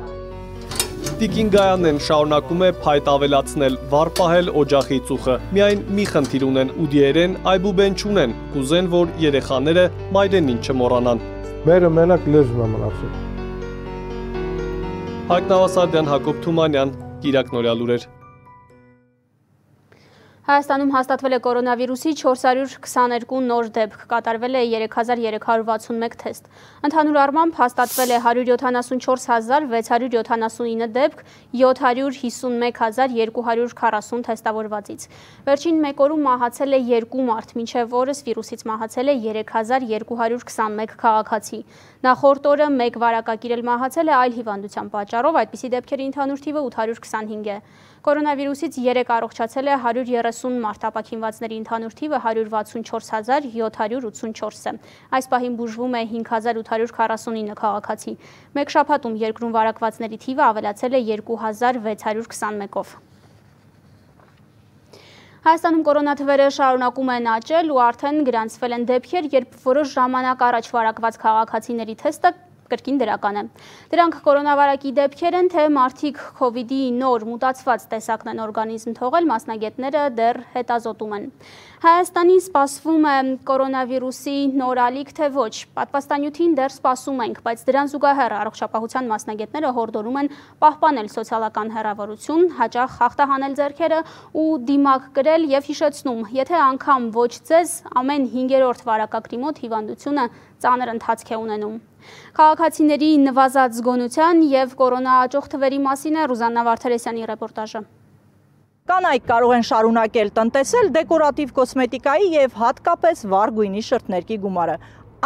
Տիկին Գայանեն շարունակում է փայտ ավելացնել, վառ պահել օջախի ծուխը։ Միայն մի խնդիր ունեն ուդիերեն, այբուբեն չունեն, կուզեն, որ երեխաները մայրենին չմոռանան։ Մերը մենակ լեզուն է մնացել։ Հայկ Նավասարդյան, Հակոբ Թումանյան, Կիրակ Նորյա լուրեր։ Հայաստանում հաստատվել է կորոնավիրուսի չորս հարյուր քսաներկու նոր դեպք, կատարվել է երեք հազար երեք հարյուր վաթսունմեկ թեստ։ Ընդհանուր առմամբ հաստատվել է հարյուր յոթանասունչորս հազար վեց հարյուր յոթանասունինը դեպք, յոթ հարյուր հիսունմեկ հազար երկու հարյուր քառասուն թեստավորվածից։ Վերջին մեկ օրում մահացել է երկու մարդ, մինչև օրս վիրուսից մահացել է երեք հազար երկու հարյուր քսանմեկ քաղաքացի։ Նախորդ օրը մեկ վարակագիր էլ մահացել է այլ հիվանդության պատճառով, այդպիսի դեպքերի ընդհանուր թիվը ութ հարյուր քսանհինգ է։ Կորոնավիրուսից երեք առողջացել է հարյուր երեսուն մարդ, ապաքինվածների ընդհանուր թիվը հարյուր վաթսունչորս հազար յոթ հարյուր ութսունչորս է։ Այս պահին բուժվում է հինգ հազար ութ հարյուր քառասունինը քաղաքացի։ Մեկ շաբաթում երկրում վարակվածների թիվը ավելացել է երկու հազար վեց հարյուր քսանմեկով։ Հայաստանում կորոնաթվերը շարունակում են աճել ու արդեն գրանցվել են դեպքեր, երբ որոշ ժամանակ առաջ վարակված քաղաքացիների թեստը կրկին դրական է։ Դրանք կորոնավարակի դեպքեր են, թե մարդիկ քովիդի նոր մուտացված տեսակն են օրգանիզմ թողել, մասնագետները դեռ հետազոտում են։ Հայաստանին սպասվում է կորոնավիրուսի նոր ալիք, թե ոչ։ Պատվաստանյութին դեռ սպասում ենք, բայց դրան զուգահեռ առողջապահության մասնագետները հորդորում են պահպանել սոցիալական հեռավորություն, հաճախ հաղթահանել ձեռքերը ու դիմակ կրել եւ հիշեցնում, եթե անգամ ոչ ձեզ, ամեն հինգերորդ վարակագրի մոտ հիվանդությունը ծանր ընթացք է ունենում։ Քաղաքացիների նվազած զգոնության եւ կորոնա աճող թվերի մասին է Ռուզաննա Վարդերեսյանի ռեպորտաժը։ Կանայք կարող են շարունակել տնտեսել դեկորատիվ կոսմետիկայի եւ հատկապես վառ գույնի շրթներքի գումարը։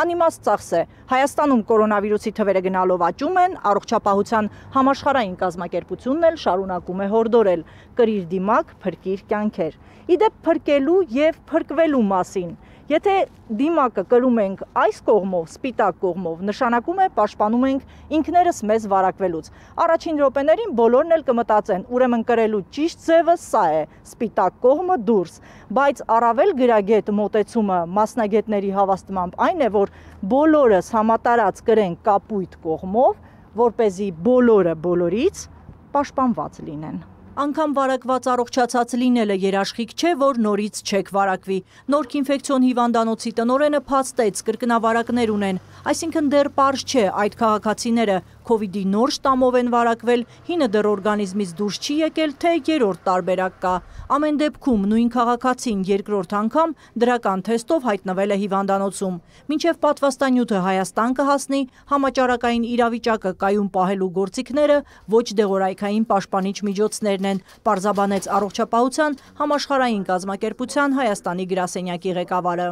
Անիմաստ ծախս է։ Հայաստանում կորոնավիրուսի թվերը գնալով աճում են, առողջապահության համաշխարհային կազմակերպությունն էլ շարունակում է հորդորել. կրիր դիմակ, փրկիր կյանքեր։ Իդեպ փրկելու եւ փրկվելու մասին։ Եթե դիմակը կրում ենք այս կողմով, սպիտակ կողմով, նշանակում է պաշտպանում ենք ինքներս մեզ վարակվելուց։ Առաջին րոպեներին բոլորն էլ կմտածեն, ուրեմն կրելու ճիշտ ձևը սա է, սպիտակ կողմը դուրս, բայց առավել գրագետ մոտեցումը մասնագետների հավաստմամբ այն է, որ բոլորս համատարած կրենք կապույտ կողմով, որպեսզի բոլորը բոլորից պաշտպանված լինեն։ Անգամ վարակված առողջացած լինելը երաշխիք չէ, որ նորից չեք վարակվի։ Նորք ինֆեկցիոն հիվանդանոցի տնօրենը փաստեց, կրկնավարակներ ունեն, այսինքն դեռ պարզ չէ այդ քաղաքացիները քովիդի նոր շտամով են վարակվել, հինը դեռ օրգանիզմից դուրս չի եկել, թե երրորդ տարբերակ կա։ Ամեն դեպքում նույն քաղաքացին երկրորդ անգամ դրական թեստով հայտնվել է հիվանդանոցում։ Մինչև պատվաստանյութը Հայաստան կհասնի, համաճարակային իրավիճակը կայուն պահելու գործիքները ոչ դեղորայքային պաշտպանիչ միջոցներն են, պարզաբանեց առողջապահության համաշխարհային կազմակերպության Հայաստանի գրասենյակի ղեկավարը։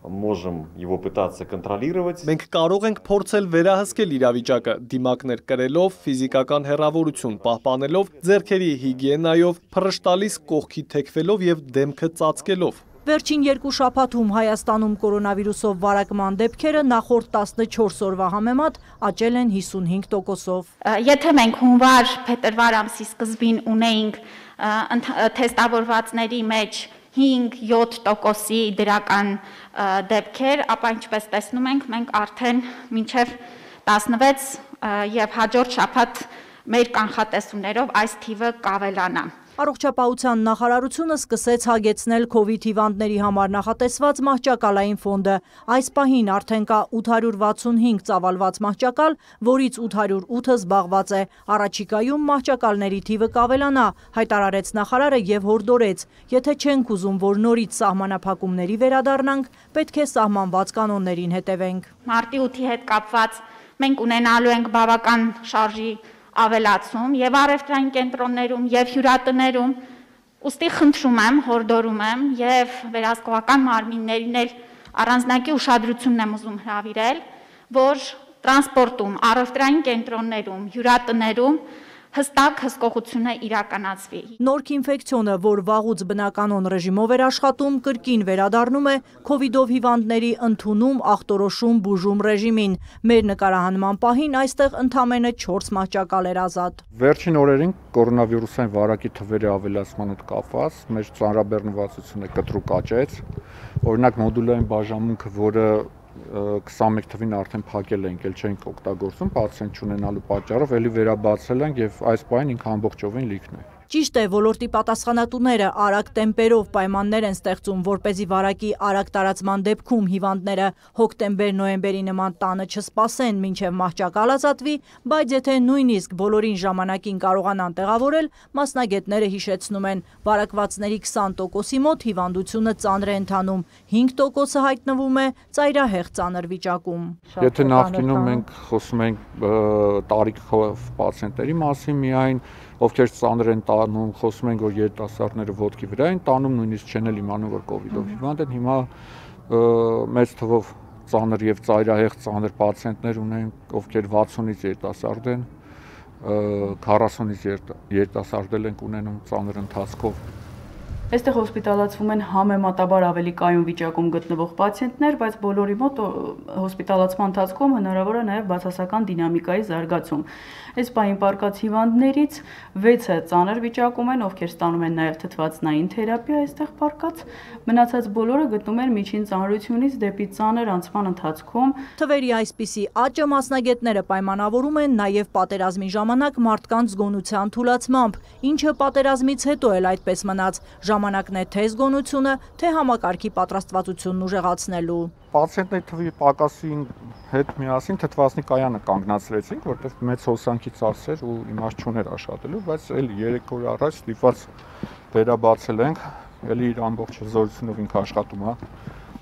Можем его пытаться контролировать. Մենք կարող ենք փորձել վերահսկել իրավիճակը, դիմակներ կրելով, ֆիզիկական հեռավորություն պահպանելով, ձեռքերի հիգիենայով, փռշտալիս կողքի թեքվելով եւ դեմքը ծածկելով։ Վերջին երկու շաբաթում Հայաստանում կորոնավիրուսով վարակման դեպքերը նախորդ տասնչորս օրվա համեմատ աճել են հիսունհինգ տոկոսով։ Եթե մենք հունվար-փետրվար ամսի սկզբին ունեինք թեստավորվածների մեջ հինգ յոթ տոկոսի դրական դեպքեր, ապա ինչպես տեսնում ենք, մենք արդեն մինչև տասնվեց եւ հաջորդ շաբաթ մեր կանխատեսումներով այս թիվը կավելանա։ Առողջապահության նախարարությունը սկսեց հագեցնել քովիդ հիվանդների համար նախատեսված մահճակալային ֆոնդը։ Այս պահին արդեն կա ութ հարյուր վաթսունհինգ ծավալված մահճակալ, որից ութ հարյուր ութը զբաղված է։ Առաջիկայում մահճակալների թիվը կավելանա, հայտարարեց նախարարը եւ հորդորեց. եթե չենք ուզում, որ նորից սահմանափակումների վերադառնանք, պետք է սահմանված կանոններին հետևենք։ Մարտի ութի հետ կապված մենք ունենալու ենք բավական շարժի ավելացում եւ առևտրային կենտրոններում եւ հյուրատներում, ուստի խնդրում եմ, հորդորում եմ եւ վերահսկողական մարմիններին էլ առանձնակի ուշադրությունն եմ ուզում հրավիրել, որ տրանսպորտում, առևտրային կենտրոններում, հյուրատներում հստակ հսկողությունը իրականացվի։ Նորք ինֆեկցիոնը, որ վաղուց բնականոն ռեժիմով էր աշխատում, կրկին վերադառնում է քովիդով հիվանդների ընդունում, ախտորոշում, բուժում ռեժիմին։ Մեր նկարահանման պահին այստեղ ընդամենը չորս մահճակալ էր ազատ։ Վերջին օրերին կորոնավիրուսային վարակի թվերի ավելացման հետ կապված մեր ծանրաբեռնվածությունը կտրուկ աճեց։ Օրինակ մոդուլային բաժանմունքը, որը քսանմեկ թվին արդեն փակել ենք, էլ չենք օգտագործում, պացիենտ չունենալու պատճառով, էլի վերաբացել ենք եւ այս պահին ինքը ամբողջովին լիքն է։ Ճիշտ է, ոլորտի պատասխանատուները արագ տեմպերով պայմաններ են ստեղծում, որպեսզի վարակի արագ տարածման դեպքում հիվանդները հոկտեմբեր-նոյեմբերի նման տանը չսպասեն մինչև մահճակալ ազատվի, բայց եթե նույնիսկ բոլորին ժամանակին կարողանան տեղավորել, մասնագետները հիշեցնում են, վարակվածների քսան տոկոսի մոտ հիվանդությունը ծանր է ընթանում, հինգ տոկոսը հայտնվում է ծայրահեղ ծանր վիճակում։ Եթե նախկինում մենք խոսում ենք տարիքով պացիենտների մասին միայն, ովքեր ծանր են տանում, խոսում ենք, որ երիտասարդները ոտքի վրա են տանում, նույնիսկ չեն էլ իմանում, որ կովիդով հիվանդ են, հիմա մեծ թվով ծանր եւ ծայրահեղ ծանր պացիենտներ ունենք, ովքեր վաթսունից երիտասարդ են, քառասունից երիտասարդ ենք ունենում ծանր ընթացքով։ Այստեղ հոսպիտալացվում են համեմատաբար ավելի կայուն վիճակում գտնվող պացիենտներ, բայց բոլորի մոտ հոսպիտալացման ընթացքում հնարավոր է նաև բացասական դինամիկայի զարգացում։ Այս պահին պարկած հիվանդներից վեցը ծանր վիճակում են, ովքեր ստանում են նաև թթվածնային թերապիա այստեղ պարկած, մնացած բոլորը գտնում են միջին ծանրությունից դեպի ծանր անցման ընթացքում։ Թվերի այսպիսի աճը մասնագետները պայմանավորում են նաև պատերազմի ժամանակ մարդկանց զգոնության թուլացմամբ, ինչը պատերազմից հետո էլ այդպես մնաց։ Ժամանակն է թե զգոնությունը, թե համակարգի պատրաստվածությունն ուժեղացնելու։ Պացիենտների թվի պակասի հետ միասին թթվածնի կայանը կանգնացրեցինք, որտեղ մեծ հոսանքի ծախսեր ու իմաստ չուներ աշխատելու, բայց էլ երեք օր առաջ ստիպված վերաբացել ենք, էլի իր ամբողջ զորությունով ինքը աշխատում է։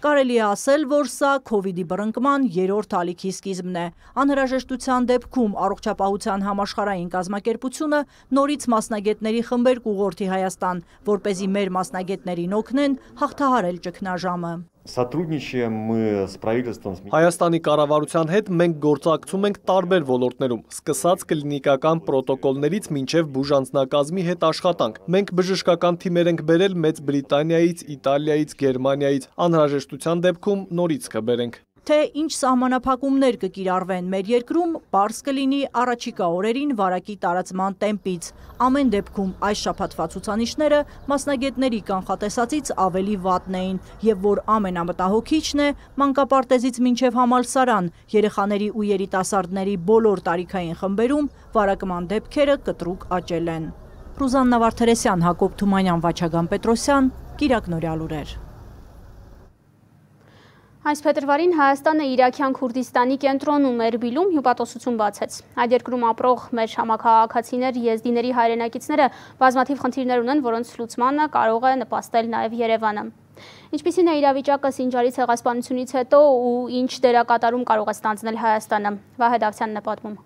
Կարելի է ասել, որ սա քովիդի բռնկման երրորդ ալիքի սկիզբն է։ Անհրաժեշտության դեպքում առողջապահության համաշխարհային կազմակերպությունը նորից մասնագետների խմբեր կուղղորդի Հայաստան, որպեսզի մեր մասնագետներին օգնեն հաղթահարել ճգնաժամը։ Сотрудничаем мы с правительством. Հայաստանի կառավարության հետ մենք գործակցում ենք տարբեր ոլորտներում, սկսած կլինիկական պրոտոկոլներից մինչև բուժանձնակազմի հետ աշխատանք։ Մենք բժշկական թիմեր ենք բերել Մեծ Բրիտանիայից, Իտալիայից, Գերմանիայից, անհրաժեշտության դեպքում նորից կբերենք։ Թե ինչ սահմանափակումներ կկիրառվեն մեր երկրում, պարզ կլինի առաջիկա օրերին վարակի տարածման տեմպից։ Ամեն դեպքում այս շաբաթվա ցուցանիշները մասնագետների կանխատեսածից ավելի վատն էին, եւ որ ամենամտահոգիչն է, մանկապարտեզից մինչև համալսարան, երեխաների ու երիտասարդների բոլոր տարիքային խմբերում վարակման դեպքերը կտրուկ աճել են։ Ռուզաննա Վարդերեսյան, Հակոբ Թումանյան, Վաչագան Պետրոսյան, Կիրակ Նորյալ լուրեր։ Այս փետրվարին Հայաստանը Իրաքյան Քուրդիստանի կենտրոնում Էրբիլում հյուպատոսություն բացեց։ Այդ երկրում ապրող մեր համաքաղաքացիներ, եզդիների հայրենակիցները բազմաթիվ խնդիրներ ունեն, որոնց լուծմանը կարող է նպաստել նաև Երևանը։ Ինչպիսին է իրավիճակը Սինջարի ցեղասպանությունից հետո ու ինչ դերակատարում կարող է ստանձնել Հայաստանը։ Վահե Դավթյանն է պատմում։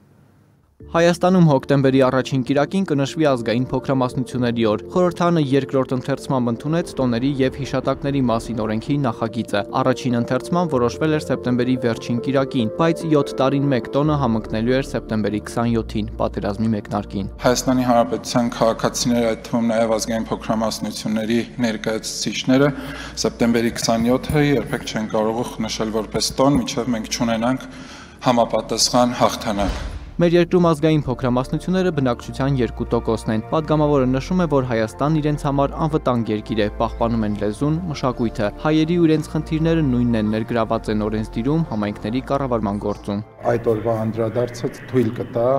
Հայաստանում հոկտեմբերի առաջին կիրակին կնշվի ազգային փոքրամասնությունների օր։ Խորհրդարանը երկրորդ ընթերցմամբ ընդունեց տոների եւ հիշատակների մասին օրենքի նախագիծը։ Առաջին ընթերցման որոշվել էր սեպտեմբերի վերջին կիրակին, բայց յոթ տարին մեկ տոնը համընկնելու էր սեպտեմբերի քսանյոթին, պատերազմի մեկնարկին։ Հայաստանի Հանրապետության քաղաքացիները, այդ թվում նաեւ ազգային փոքրամասնությունների ներկայացուցիչները սեպտեմբերի քսանյոթը երբեք չեն կարող նշել որպես տոն, մինչեւ մենք չունենանք համապատասխան հաղթանակ։ Մեր երկրում ազգային փոքրամասնությունները բնակչության երկու տոկոսն են։ Պատգամավորը նշում է, որ Հայաստանն իրենց համար անվտանգ երկիր է, պահպանում են լեզուն, մշակույթը։ Հայերի ու իրենց խնդիրները նույնն են, ներգրաված են օրենսդիրում, համայնքների կառավարման գործում։ Այդ օրվա անդրադարձը թույլ կտա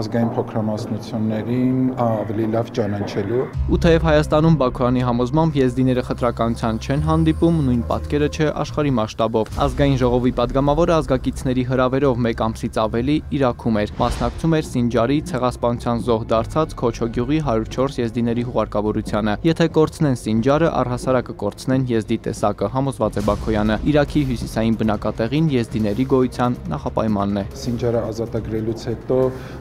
ազգային փոքրամասնություններին ավելի լավ ճանաչելու։ Ու թեև Հայաստանում Բաքոյանի համոզմամբ եզդիները խտրականության չեն հանդիպում, նույն պատկերը չէ աշխարհի մասշտաբով։ Ազգային ժողովի պատգամավորը ազգակիցների հրավերով մեկ ամսից ավելի Իրաքում էր։ Մասնակցում էր Սինջարի ցեղասպանության զոհ դարձած Քոչոգյուղի հարյուր չորս եզդիների հուղարկավորությանը։ Եթե կորցնեն Սինջարը, առհասարակ կկորցնեն եզդի տեսակը, համոզված է Բաքոյանը։ Իրաքի հյուսիսային բնակատեղին եզդիների գոյության նախապայմանն է։ Սինջարը ազատագրելուց հետո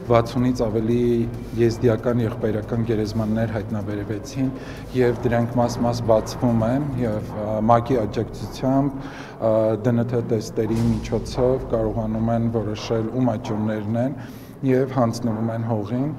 վաթսունից ավելի եզդիական եղբայրական գերեզմաններ հայտնաբերվեցին եւ դրանք մաս-մաս բացվում են եւ ՄԱԿ-ի աջակցությամբ դե են թե տեստերի միջոցով կարողանում են որոշել ում աճուրներն են եւ հանձնվում են հողին։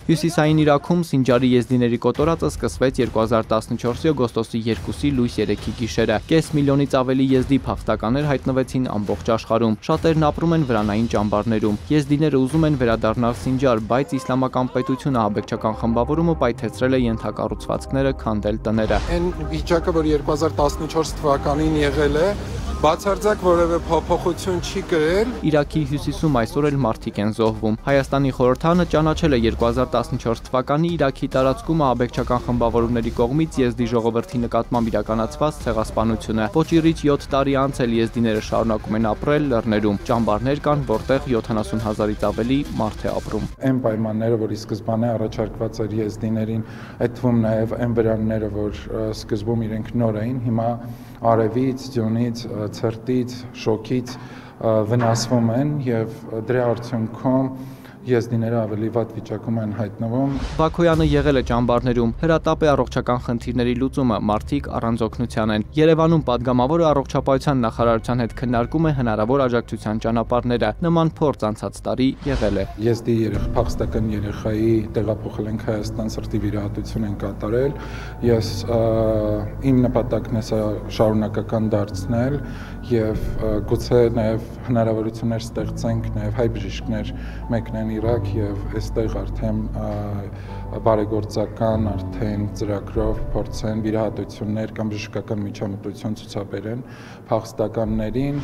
Հյուսիսային Իրաքում Սինջարի եզդիների կոտորածը սկսվեց երկու հազար տասնչորսի օգոստոսի երկուսի լույս երեքի գիշերը։ Կես միլիոնից ավելի եզդի փախստականներ հայտնվեցին ամբողջ աշխարհում։ Շատերն ապրում են վրանային ճամբարներում։ Եզդիները ուզում են վերադառնալ Սինջար, բայց իսլամական պետությունը ահաբեկչական խմբավորումը պայթեցրել է ենթակառուցվածքները, քանդել տները։ Այն վիճակը, որ երկու հազար տասնչորս թվականին եղել է, բացարձակ որևէ փոփոխություն չի կրել։ Իրաքի հյուսիսում այսօր էլ մարդիկ են զոհվում։ Հայաստանի խորհրդանը ճանաչել է երկու հազար տասնչորս թվականի Իրաքի տարածքում ահաբեկչական խմբավորումների կողմից եզդի ժողովրդի նկատմամբ իրականացված ցեղասպանությունը։ Ոչիրից յոթ տարի անց էլ եզդիները շարունակում են ապրել լեռներում։ Ճամբարներ կան, որտեղ յոթանասուն հազարից ավելի մարդ է ապրում։ Այն պայմանները, որ ի սկզբանե առաջարկված էր եզդիներին, այդ թվում նաև այն վրանները, որ սկզբում իրենք նոր էին, հիմա արևից, ձյունից, ցրտից, շոկից վնասվում են եւ դրա արդյունքում եզդիները ավելի վատ վիճակում են հայտնվում։ Բաքոյանը եղել է ճամբարներում, հրատապ է առողջական խնդիրների լուծումը, մարդիկ առանց օգնության են։ Երևանում падգամավորը առողջապահության նախարարության հետ քննարկում է հնարավոր աջակցության ճանապարհները։ Նման փորձ անցած տարի եղել է։ Եզդի երեխա փախստական երեխայի տեղափոխել ենք Հայաստան, սրտի վիրահատություն են կատարել։ Ես իմ նպատակն է սա շարունակական դարձնել եւ գուցե նաեւ հնարավորություններ ստեղծենք նաեւ հայ բժիշկներ մեկնեն Իրաք եւ այստեղ արդեն բարեգործական արդեն ծրագրով փորձեն վիրահատություններ կամ բժշկական միջամտություն ցուցաբերեն փախստականներին։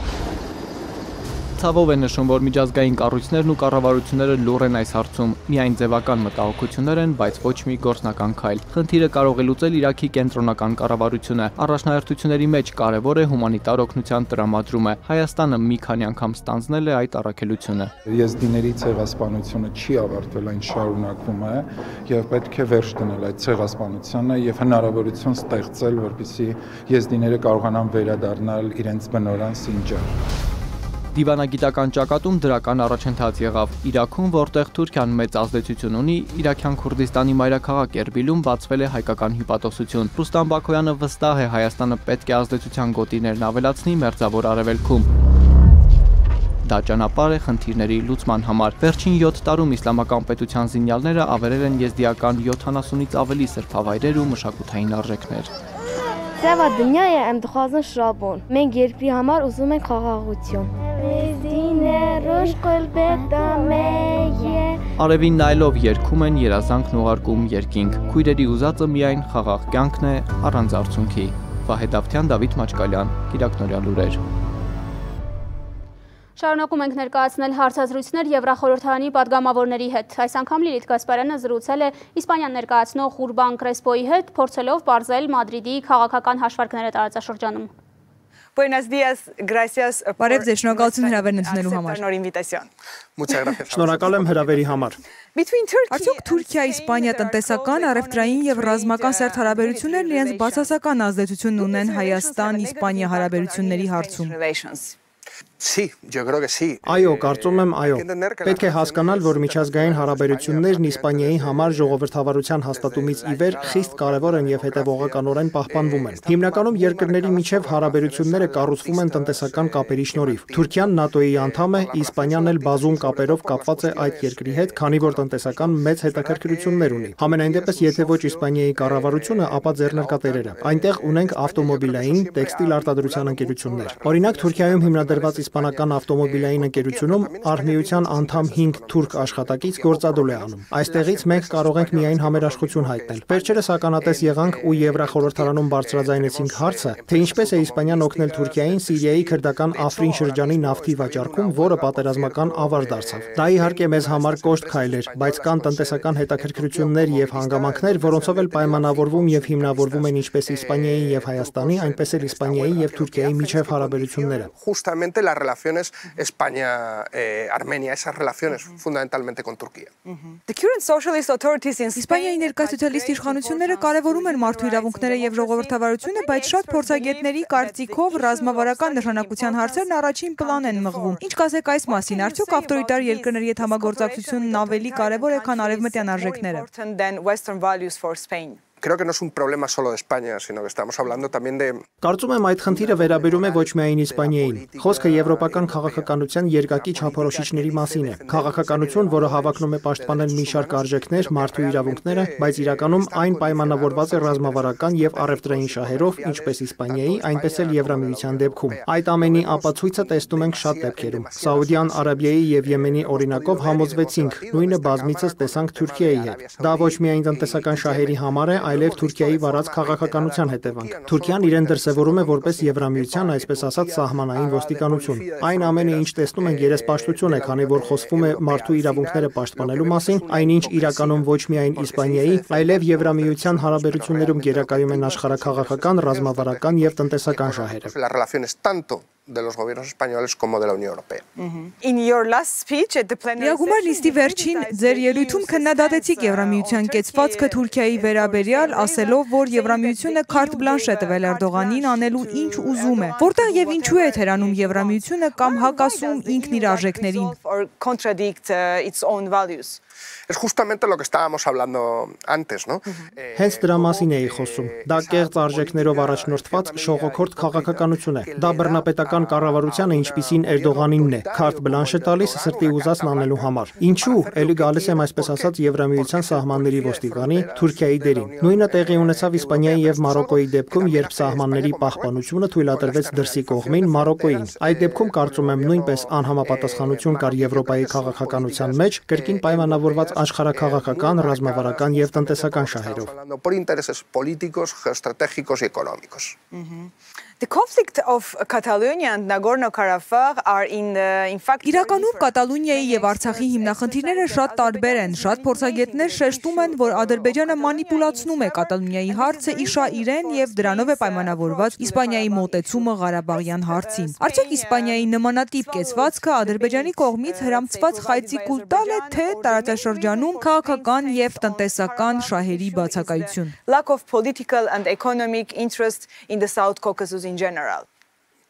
Ցավով է նշում, որ միջազգային կառույցներն ու կառավարությունները լուռ են այս հարցում։ Միայն ձևական մտահոգություններ են, բայց ոչ մի գործնական քայլ։ Խնդիրը կարող է լուծել Իրաքի կենտրոնական կառավարությունը։ Առաջնահերթությունների մեջ կարևոր է հումանիտար օգնության տրամադրումը։ Հայաստանը մի քանի անգամ ստանձնել է այդ առաքելությունը։ Եզդիների ցեղասպանությունը չի ավարտվել, այն շարունակվում է եւ պետք է վերջ դնել այդ ցեղասպանությանը եւ հնարավորություն ստեղծել, որպեսզի եզդիները կարողանան վերադառնալ իրենց բնորան Սինջար։ Դիվանագիտական ճակատում դրական առաջընթաց եղավ։ Իրաքում, որտեղ Թուրքիան մեծ ազդեցություն ունի, Իրաքյան Քուրդիստանի մայրաքաղաք Էրբիլում բացվել է հայկական հյուպատոսություն։ Ռուստամ Բաքոյանը վստահ է, Հայաստանը պետք է ազդեցության գոտիներն ավելացնի Մերձավոր Արևելքում։ Դա ճանապարհ է խնդիրների լուծման համար։ Վերջին յոթ տարում իսլամական պետության զինյալները ավերել են եզդիական յոթանասունից ավելի սրբավայրեր ու մշակութային արժեքներ։ Սևա դնյայը եմ դխազն շրաբոն։ Մենք երկրի համար ուզում ենք խաղաղություն։ Արևին նայելով երգում են, երազանքն ուղարկում երկինք։ Քույրերի ուզածը միայն խաղաղ կյանքն է, առանց արցունքի։ Վահե Դավթյան, Դավիթ Մաչկալյան, Կիրակնորյա լուրեր։ Շարունակում ենք ներկայացնել հարցազրույցներ Եվրախորհրդարանի падգամավորների հետ։ Այս անգամ Լիլիթ Գասպարյանը զրուցել է Իսպանիան ներկայացնող Ուրբան Կրեսպոյի հետ, փորձելով պարզել Մադրիդի քաղաքական հաշվարկները տարածաշրջանում։ Buenos días, gracias. Բարև ձեզ, շնորհակալություն հրավերն ընդունելու համար։ Շնորհակալ եմ հրավերի համար։ Արդյոք Թուրքիա-Իսպանիա տնտեսական, առևտրային եւ ռազմական սերտ հարաբերություններն իրենց բացասական ազդեցությունն ունեն Հայաստան-Իսպանիա հարաբերությունների հարցում։ Այո, կարծում եմ, այո։ Պետք է հասկանալ, որ միջազգային հարաբերություններն Իսպանիայի համար ժողովրդավարության հաստատումից ի վեր խիստ կարևոր են եւ հետեւողականորեն պահպանվում են։ Հիմնականում երկրների միջև հարաբերությունները կառուցվում են տնտեսական կապերի շնորհիվ։ Թուրքիան ՆԱՏՕ-ի անդամ է, Իսպանիան էլ բազում կապերով կապված է այդ երկրի հետ, քանի որ տնտեսական մեծ հետաքրքրություններ ունի։ Համենայն դեպս, եթե ոչ Իսպանիայի կառավարությունը, ապա ձեռնարկատերերը։ Այնտեղ ունենք ավտոմոբիլային, տեքստիլ արտադրության ընկերություններ։ Օրինակ, Թուրքիայում հիմնադրված իսպանական ավտոմոբիլային ընկերությունում Արմիության անդամ հինգ թուրք աշխատակից գործադուլ է անում։ Այստեղից մենք կարող ենք միայն համերաշխություն հայտնել։ Վերջերս ականատես եղանք ու Եվրախորհրդարանում բարձրաձայնեցինք հարցը, թե ինչպես է Իսպանիան օգնել Թուրքիային Սիրիայի քրդական Աֆրին շրջանի նավթի վաճառքում, որը պատերազմական ավար դարձավ։ Դա իհարկե մեզ համար կոշտ քայլ էր, բայց կան տնտեսական հետաքրքրություններ եւ հանգամանքներ, որոնցով էլ պայմանավորվում եւ հիմնավորվում են ինչպես Իսպանիայի եւ Հայաստանի, այնպես էլ Իսպանիայի եւ Թուրքիայի միջև հարաբերությունները։ Las relaciones España-Armenia, eh, esas relaciones fundamentalmente con Turquía. Իսպանիայի ներկայացուցիչ իշխանությունները կարևորում են մարդու իրավունքները եւ ժողովրդավարությունը, բայց շատ փորձագետների կարծիքով ռազմավարական նշանակության հարցերն առաջին պլան են մղվում։ Ինչ կասեք այս մասին, արդյոք ավտորիտար երկրների հետ համագործակցությունն ավելի կարևոր է, քան արևմտյան արժեքները։ creo que no es un problema solo de España, sino que estamos hablando también de... Կարծում եմ այդ խնդիրը վերաբերում է ոչ միայն Իսպանիային։ Խոսքը եվրոպական քաղաքականության երկակի չափորոշիչների մասին է։ Քաղաքականություն, որը հավակնում է պաշտպանել մի շարք արժեքներ, մարդու իրավունքները, բայց իրականում այն պայմանավորված է ռազմավարական եւ առևտրային շահերով, ինչպես Իսպանիայի, այնպես էլ Եվրամիության դեպքում։ Այդ ամենի ապացույցը տեսնում ենք շատ դեպքերում։ Սաուդյան Արաբիայի եւ Եմենի օրինակով համոզվեցինք, նույնը բազմիցս տեսանք Թուրքիայի հետ։ Դա ոչ միայն տնտեսական շահերի համար է, այլև Թուրքիայի վարած քաղաքականության հետևանք։ Թուրքիան իրեն դրսևորում է որպես Եվրամիության, այսպես ասած, սահմանային ոստիկանություն։ Այն ամենը, ինչ տեսնում ենք, երեսպաշտություն է, քանի որ խոսվում է մարդու իրավունքները պաշտպանելու մասին, այնինչ իրականում ոչ միայն Իսպանիայի, այլև Եվրամիության հարաբերություններում գերակայում են աշխարհաքաղաքական, ռազմավարական եւ տնտեսական շահերը։ Las relaciones tanto de los gobiernos españoles como de la Unión Europea. In your last speech at the plenary Միագումար նիստի վերջին ձեր ելույթում քննադատեցիք Եվրամիության կեցվածքը Թուրքիայի վերաբերյալ, ասելով, որ Եվրամիությունը քարտ բլանշ է տվել Էրդողանին անելու ինչ ուզում է։ Որտեղ եւ ինչու է թերանում Եվրամիությունը կամ հակասում ինքն իր արժեքներին։ contradict uh, its own values. Es justamente lo que estábamos hablando antes, ¿no? Հենց դրա մասին էի խոսում։ Դա կեղծ արժեքներով առաջնորդված շողոքորթ քաղաքականություն է։ Դա բռնապետական կառավարությանը, ինչպիսին Էրդողանինն է, քարտ բլանշ է տալիս սրտի ուզածն անելու համար։ Ինչու՞, ելի գալիս եմ այսպես ասած Եվրամիության սահմանների ոստիկանի Թուրքիայի դերին։ Նույնը տեղի ունեցավ Իսպանիայի եւ Մարոկոյի դեպքում, երբ սահմանների պահպանությունը թույլատրվեց դրսի կողմին Մարոկոյին։ Այդ դեպքում կարծում եմ նույնպես անհամապատասխանություն կար Եվրոպայի քաղաքականության մեջ, կրկին պայմանավորված աշխարհաքաղաքական, ռազմավարական եւ տնտեսական շահերով։ Por intereses políticos, geoestratégicos y económicos. The conflict of Catalonia and Nagorno-Karabakh are in the, in fact Իրականում Կատալոնիայի եւ Արցախի հիմնախնդիրները շատ տարբեր են։ Շատ փորձագետներ շեշտում են, որ Ադրբեջանը մանիպուլացնում է Կատալոնիայի հարցը իշա իրեն եւ դրանով է պայմանավորված Իսպանիայի մոտեցումը Ղարաբաղյան հարցին։ Արդյոք Իսպանիայի նմանատիպ կեցվածքը Ադրբեջանի կողմից հրամցված խայծի կուլ տալ է, թե տարածաշրջանում քաղաքական եւ տնտեսական շահերի բացակայություն։ Lack of political and economic interest in the South Caucasus in general.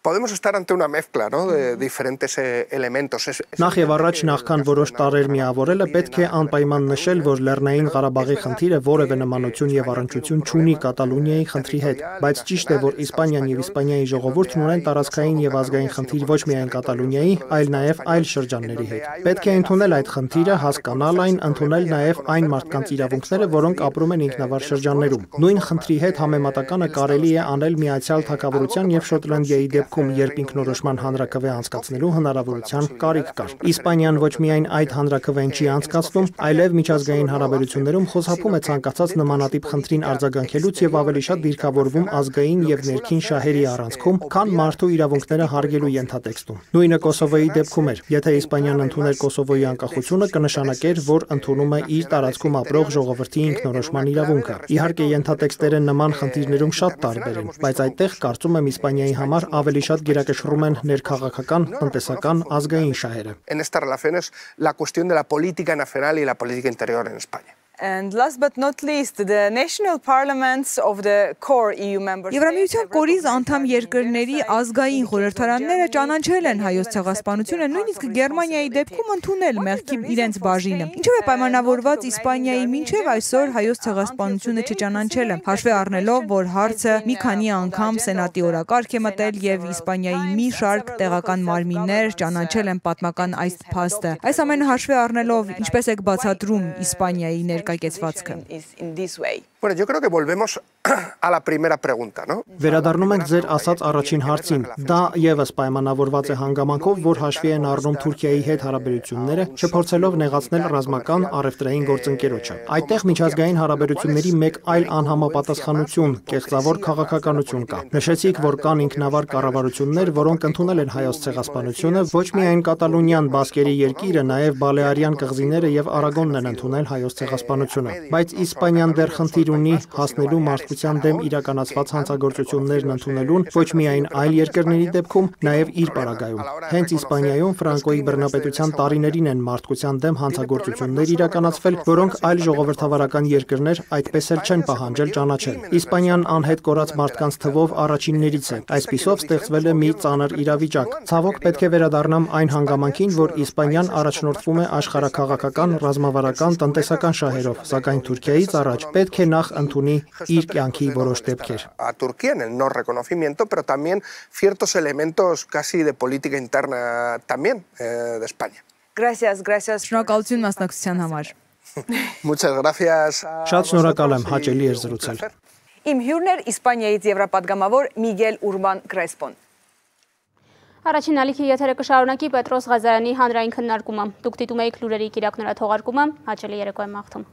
Podemos estar ante una mezcla, ¿no? de diferentes eh, elementos. Es, es... Նախ եւ առաջ նախքան որոշ տարեր միավորելը պետք է անպայման նշել, որ Լեռնային Ղարաբաղի խնդիրը որևէ նմանություն եւ առնչություն չունի Կատալոնիայի խնդրի հետ, բայց ճիշտ է, որ Իսպանիան եւ Իսպանիայի ժողովուրդն ունեն տարածքային եւ ազգային խնդիր ոչ միայն Կատալոնիայի, այլ նաեւ այլ շրջանների հետ։ Պետք է ընդունել այդ խնդիրը, հասկանալ այն, ընդունել նաեւ այն մարդկանց իրավունքները, որոնք ապրում են ինքնավար շրջաններում։ Նույն խնդրի հետ համեմատականը կարելի է անել Միացյալ Թագավորության եւ Շոտլանդիայի դեպքում, երբ ինքնորոշման հանրաքվե անցկացնելու հնարավորության կարիք կար։ Իսպանիան ոչ միայն այդ հանրաքվեն չի անցկացնում, այլև միջազգային հարաբերություններում խոզհապում է ցանկացած նմանատիպ խնդրին արձագանքելուց եւ ավելի շատ դիրքավորվում ազգային եւ ներքին շահերի առանցքում, քան մարդու իրավունքները հարգելու ենթատեքստում։ Նույնը Կոսովոյի դեպքում էր։ Եթե Իսպանիան ընդուներ Կոսովոյի անկախությունը, կնշանակեր, որ ընդունում է իր տարածքում ապրող ժողովրդի ինքնորոշման իրավունքը։ Իհարկե ենթատեքստերը նման խնդիրներում շատ տարբեր են, բայց այդտեղ կարծում եմ Իսպանիայի համար ավելի շատ գերակշռում են ներքաղաքական, տնտեսական, ազգային շահերը։ En estas relaciones la cuestión de la política nacional y la política interior en España. And last but not least, the national parliaments of the core E U member states. Եվրամիության կորիզ անդամ երկրների ազգային խորհրդարանները ճանաչել են հայոց ցեղասպանությունը, նույնիսկ Գերմանիայի դեպքում ընդունել մեղքի իրենց բաժինը։ Ինչով է պայմանավորված Իսպանիայի մինչև այսօր հայոց ցեղասպանությունը չճանաչելը, հաշվի առնելով, որ հարցը մի քանի անգամ սենատի օրակարգ է մտել եւ Իսպանիայի մի շարք տեղական մարմիններ ճանաչել են պատմական այս փաստը։ Այս ամենը հաշվի առնելով, ինչպես եք բացատրում Իսպանիայի ներկայացվածքը։ Bueno, yo creo que volvemos a la primera pregunta, ¿no? Վերադառնում ենք ձեր ասած առաջին հարցին։ Դա եւս պայմանավորված է հանգամանքով, որ հաշվի են առնում Թուրքիայի հետ հարաբերությունները, չփորձելով նեղացնել ռազմական առևտրային գործընկերոջը։ Այդտեղ միջազգային հարաբերությունների մեկ այլ անհամապատասխանություն, կեղծավոր քաղաքականություն կա։ Նշեցիք, որ կան ինքնավար կառավարություններ, որոնք ընդունել են հայոց ցեղասպանությունը, ոչ միայն Կատալոնիան, Բասկերի երկիրը, նաեւ Բալեարյան կղզիները եւ Արագոնն են ընդունել հայոց ցեղասպանությունը։ Բայց Իսպանիան դեռ խնդիր ունի հասնելու մարդու քաղաքական դեմ իրականացված հանցագործություններն ընդունելուն ոչ միայն այլ երկրների դեպքում, նաև իր պարագայում։ Հենց Իսպանիայում Ֆրանկոյի բռնապետության տարիներին են մարդկության դեմ հանցագործություններ իրականացվել, որոնք այլ ժողովրդավարական երկրներ այդպես էլ չեն պահանջել ճանաչել։ Իսպանիան անհետ կորած մարդկանց թվով առաջիններից է։ Այսպիսով ստեղծվել է մի ծանր իրավիճակ։ Ցավոք պետք է վերադառնամ այն հանգամանքին, որ Իսպանիան առաջնորդվում է աշխարհաքաղաքական, ռազմավարական, տնտեսական շահերով, սակայն Թուրքիայից առաջ պետք է նախ ընդունի իր կյանքի որոշ դեպքեր։ A Turquía en el no reconocimiento, pero también ciertos elementos casi de política interna también eh, de España. Gracias, gracias. Շնորհակալություն մասնակցության համար։ Muchas gracias. Շատ շնորհակալ եմ, հաճելի էր զրուցել։ Իմ հյուրն էր Իսպանիայից եվրապատգամավոր Միգել Ուրբան Կրեսպոն։ Առաջին ալիքի եթերը կշարունակի Պետրոս Ղազարյանի հանրային քննարկումը։ Դուք դիտում եք լուրերի կիրակնորաթողարկումը, հաճելի երեկո եմ մաղթում։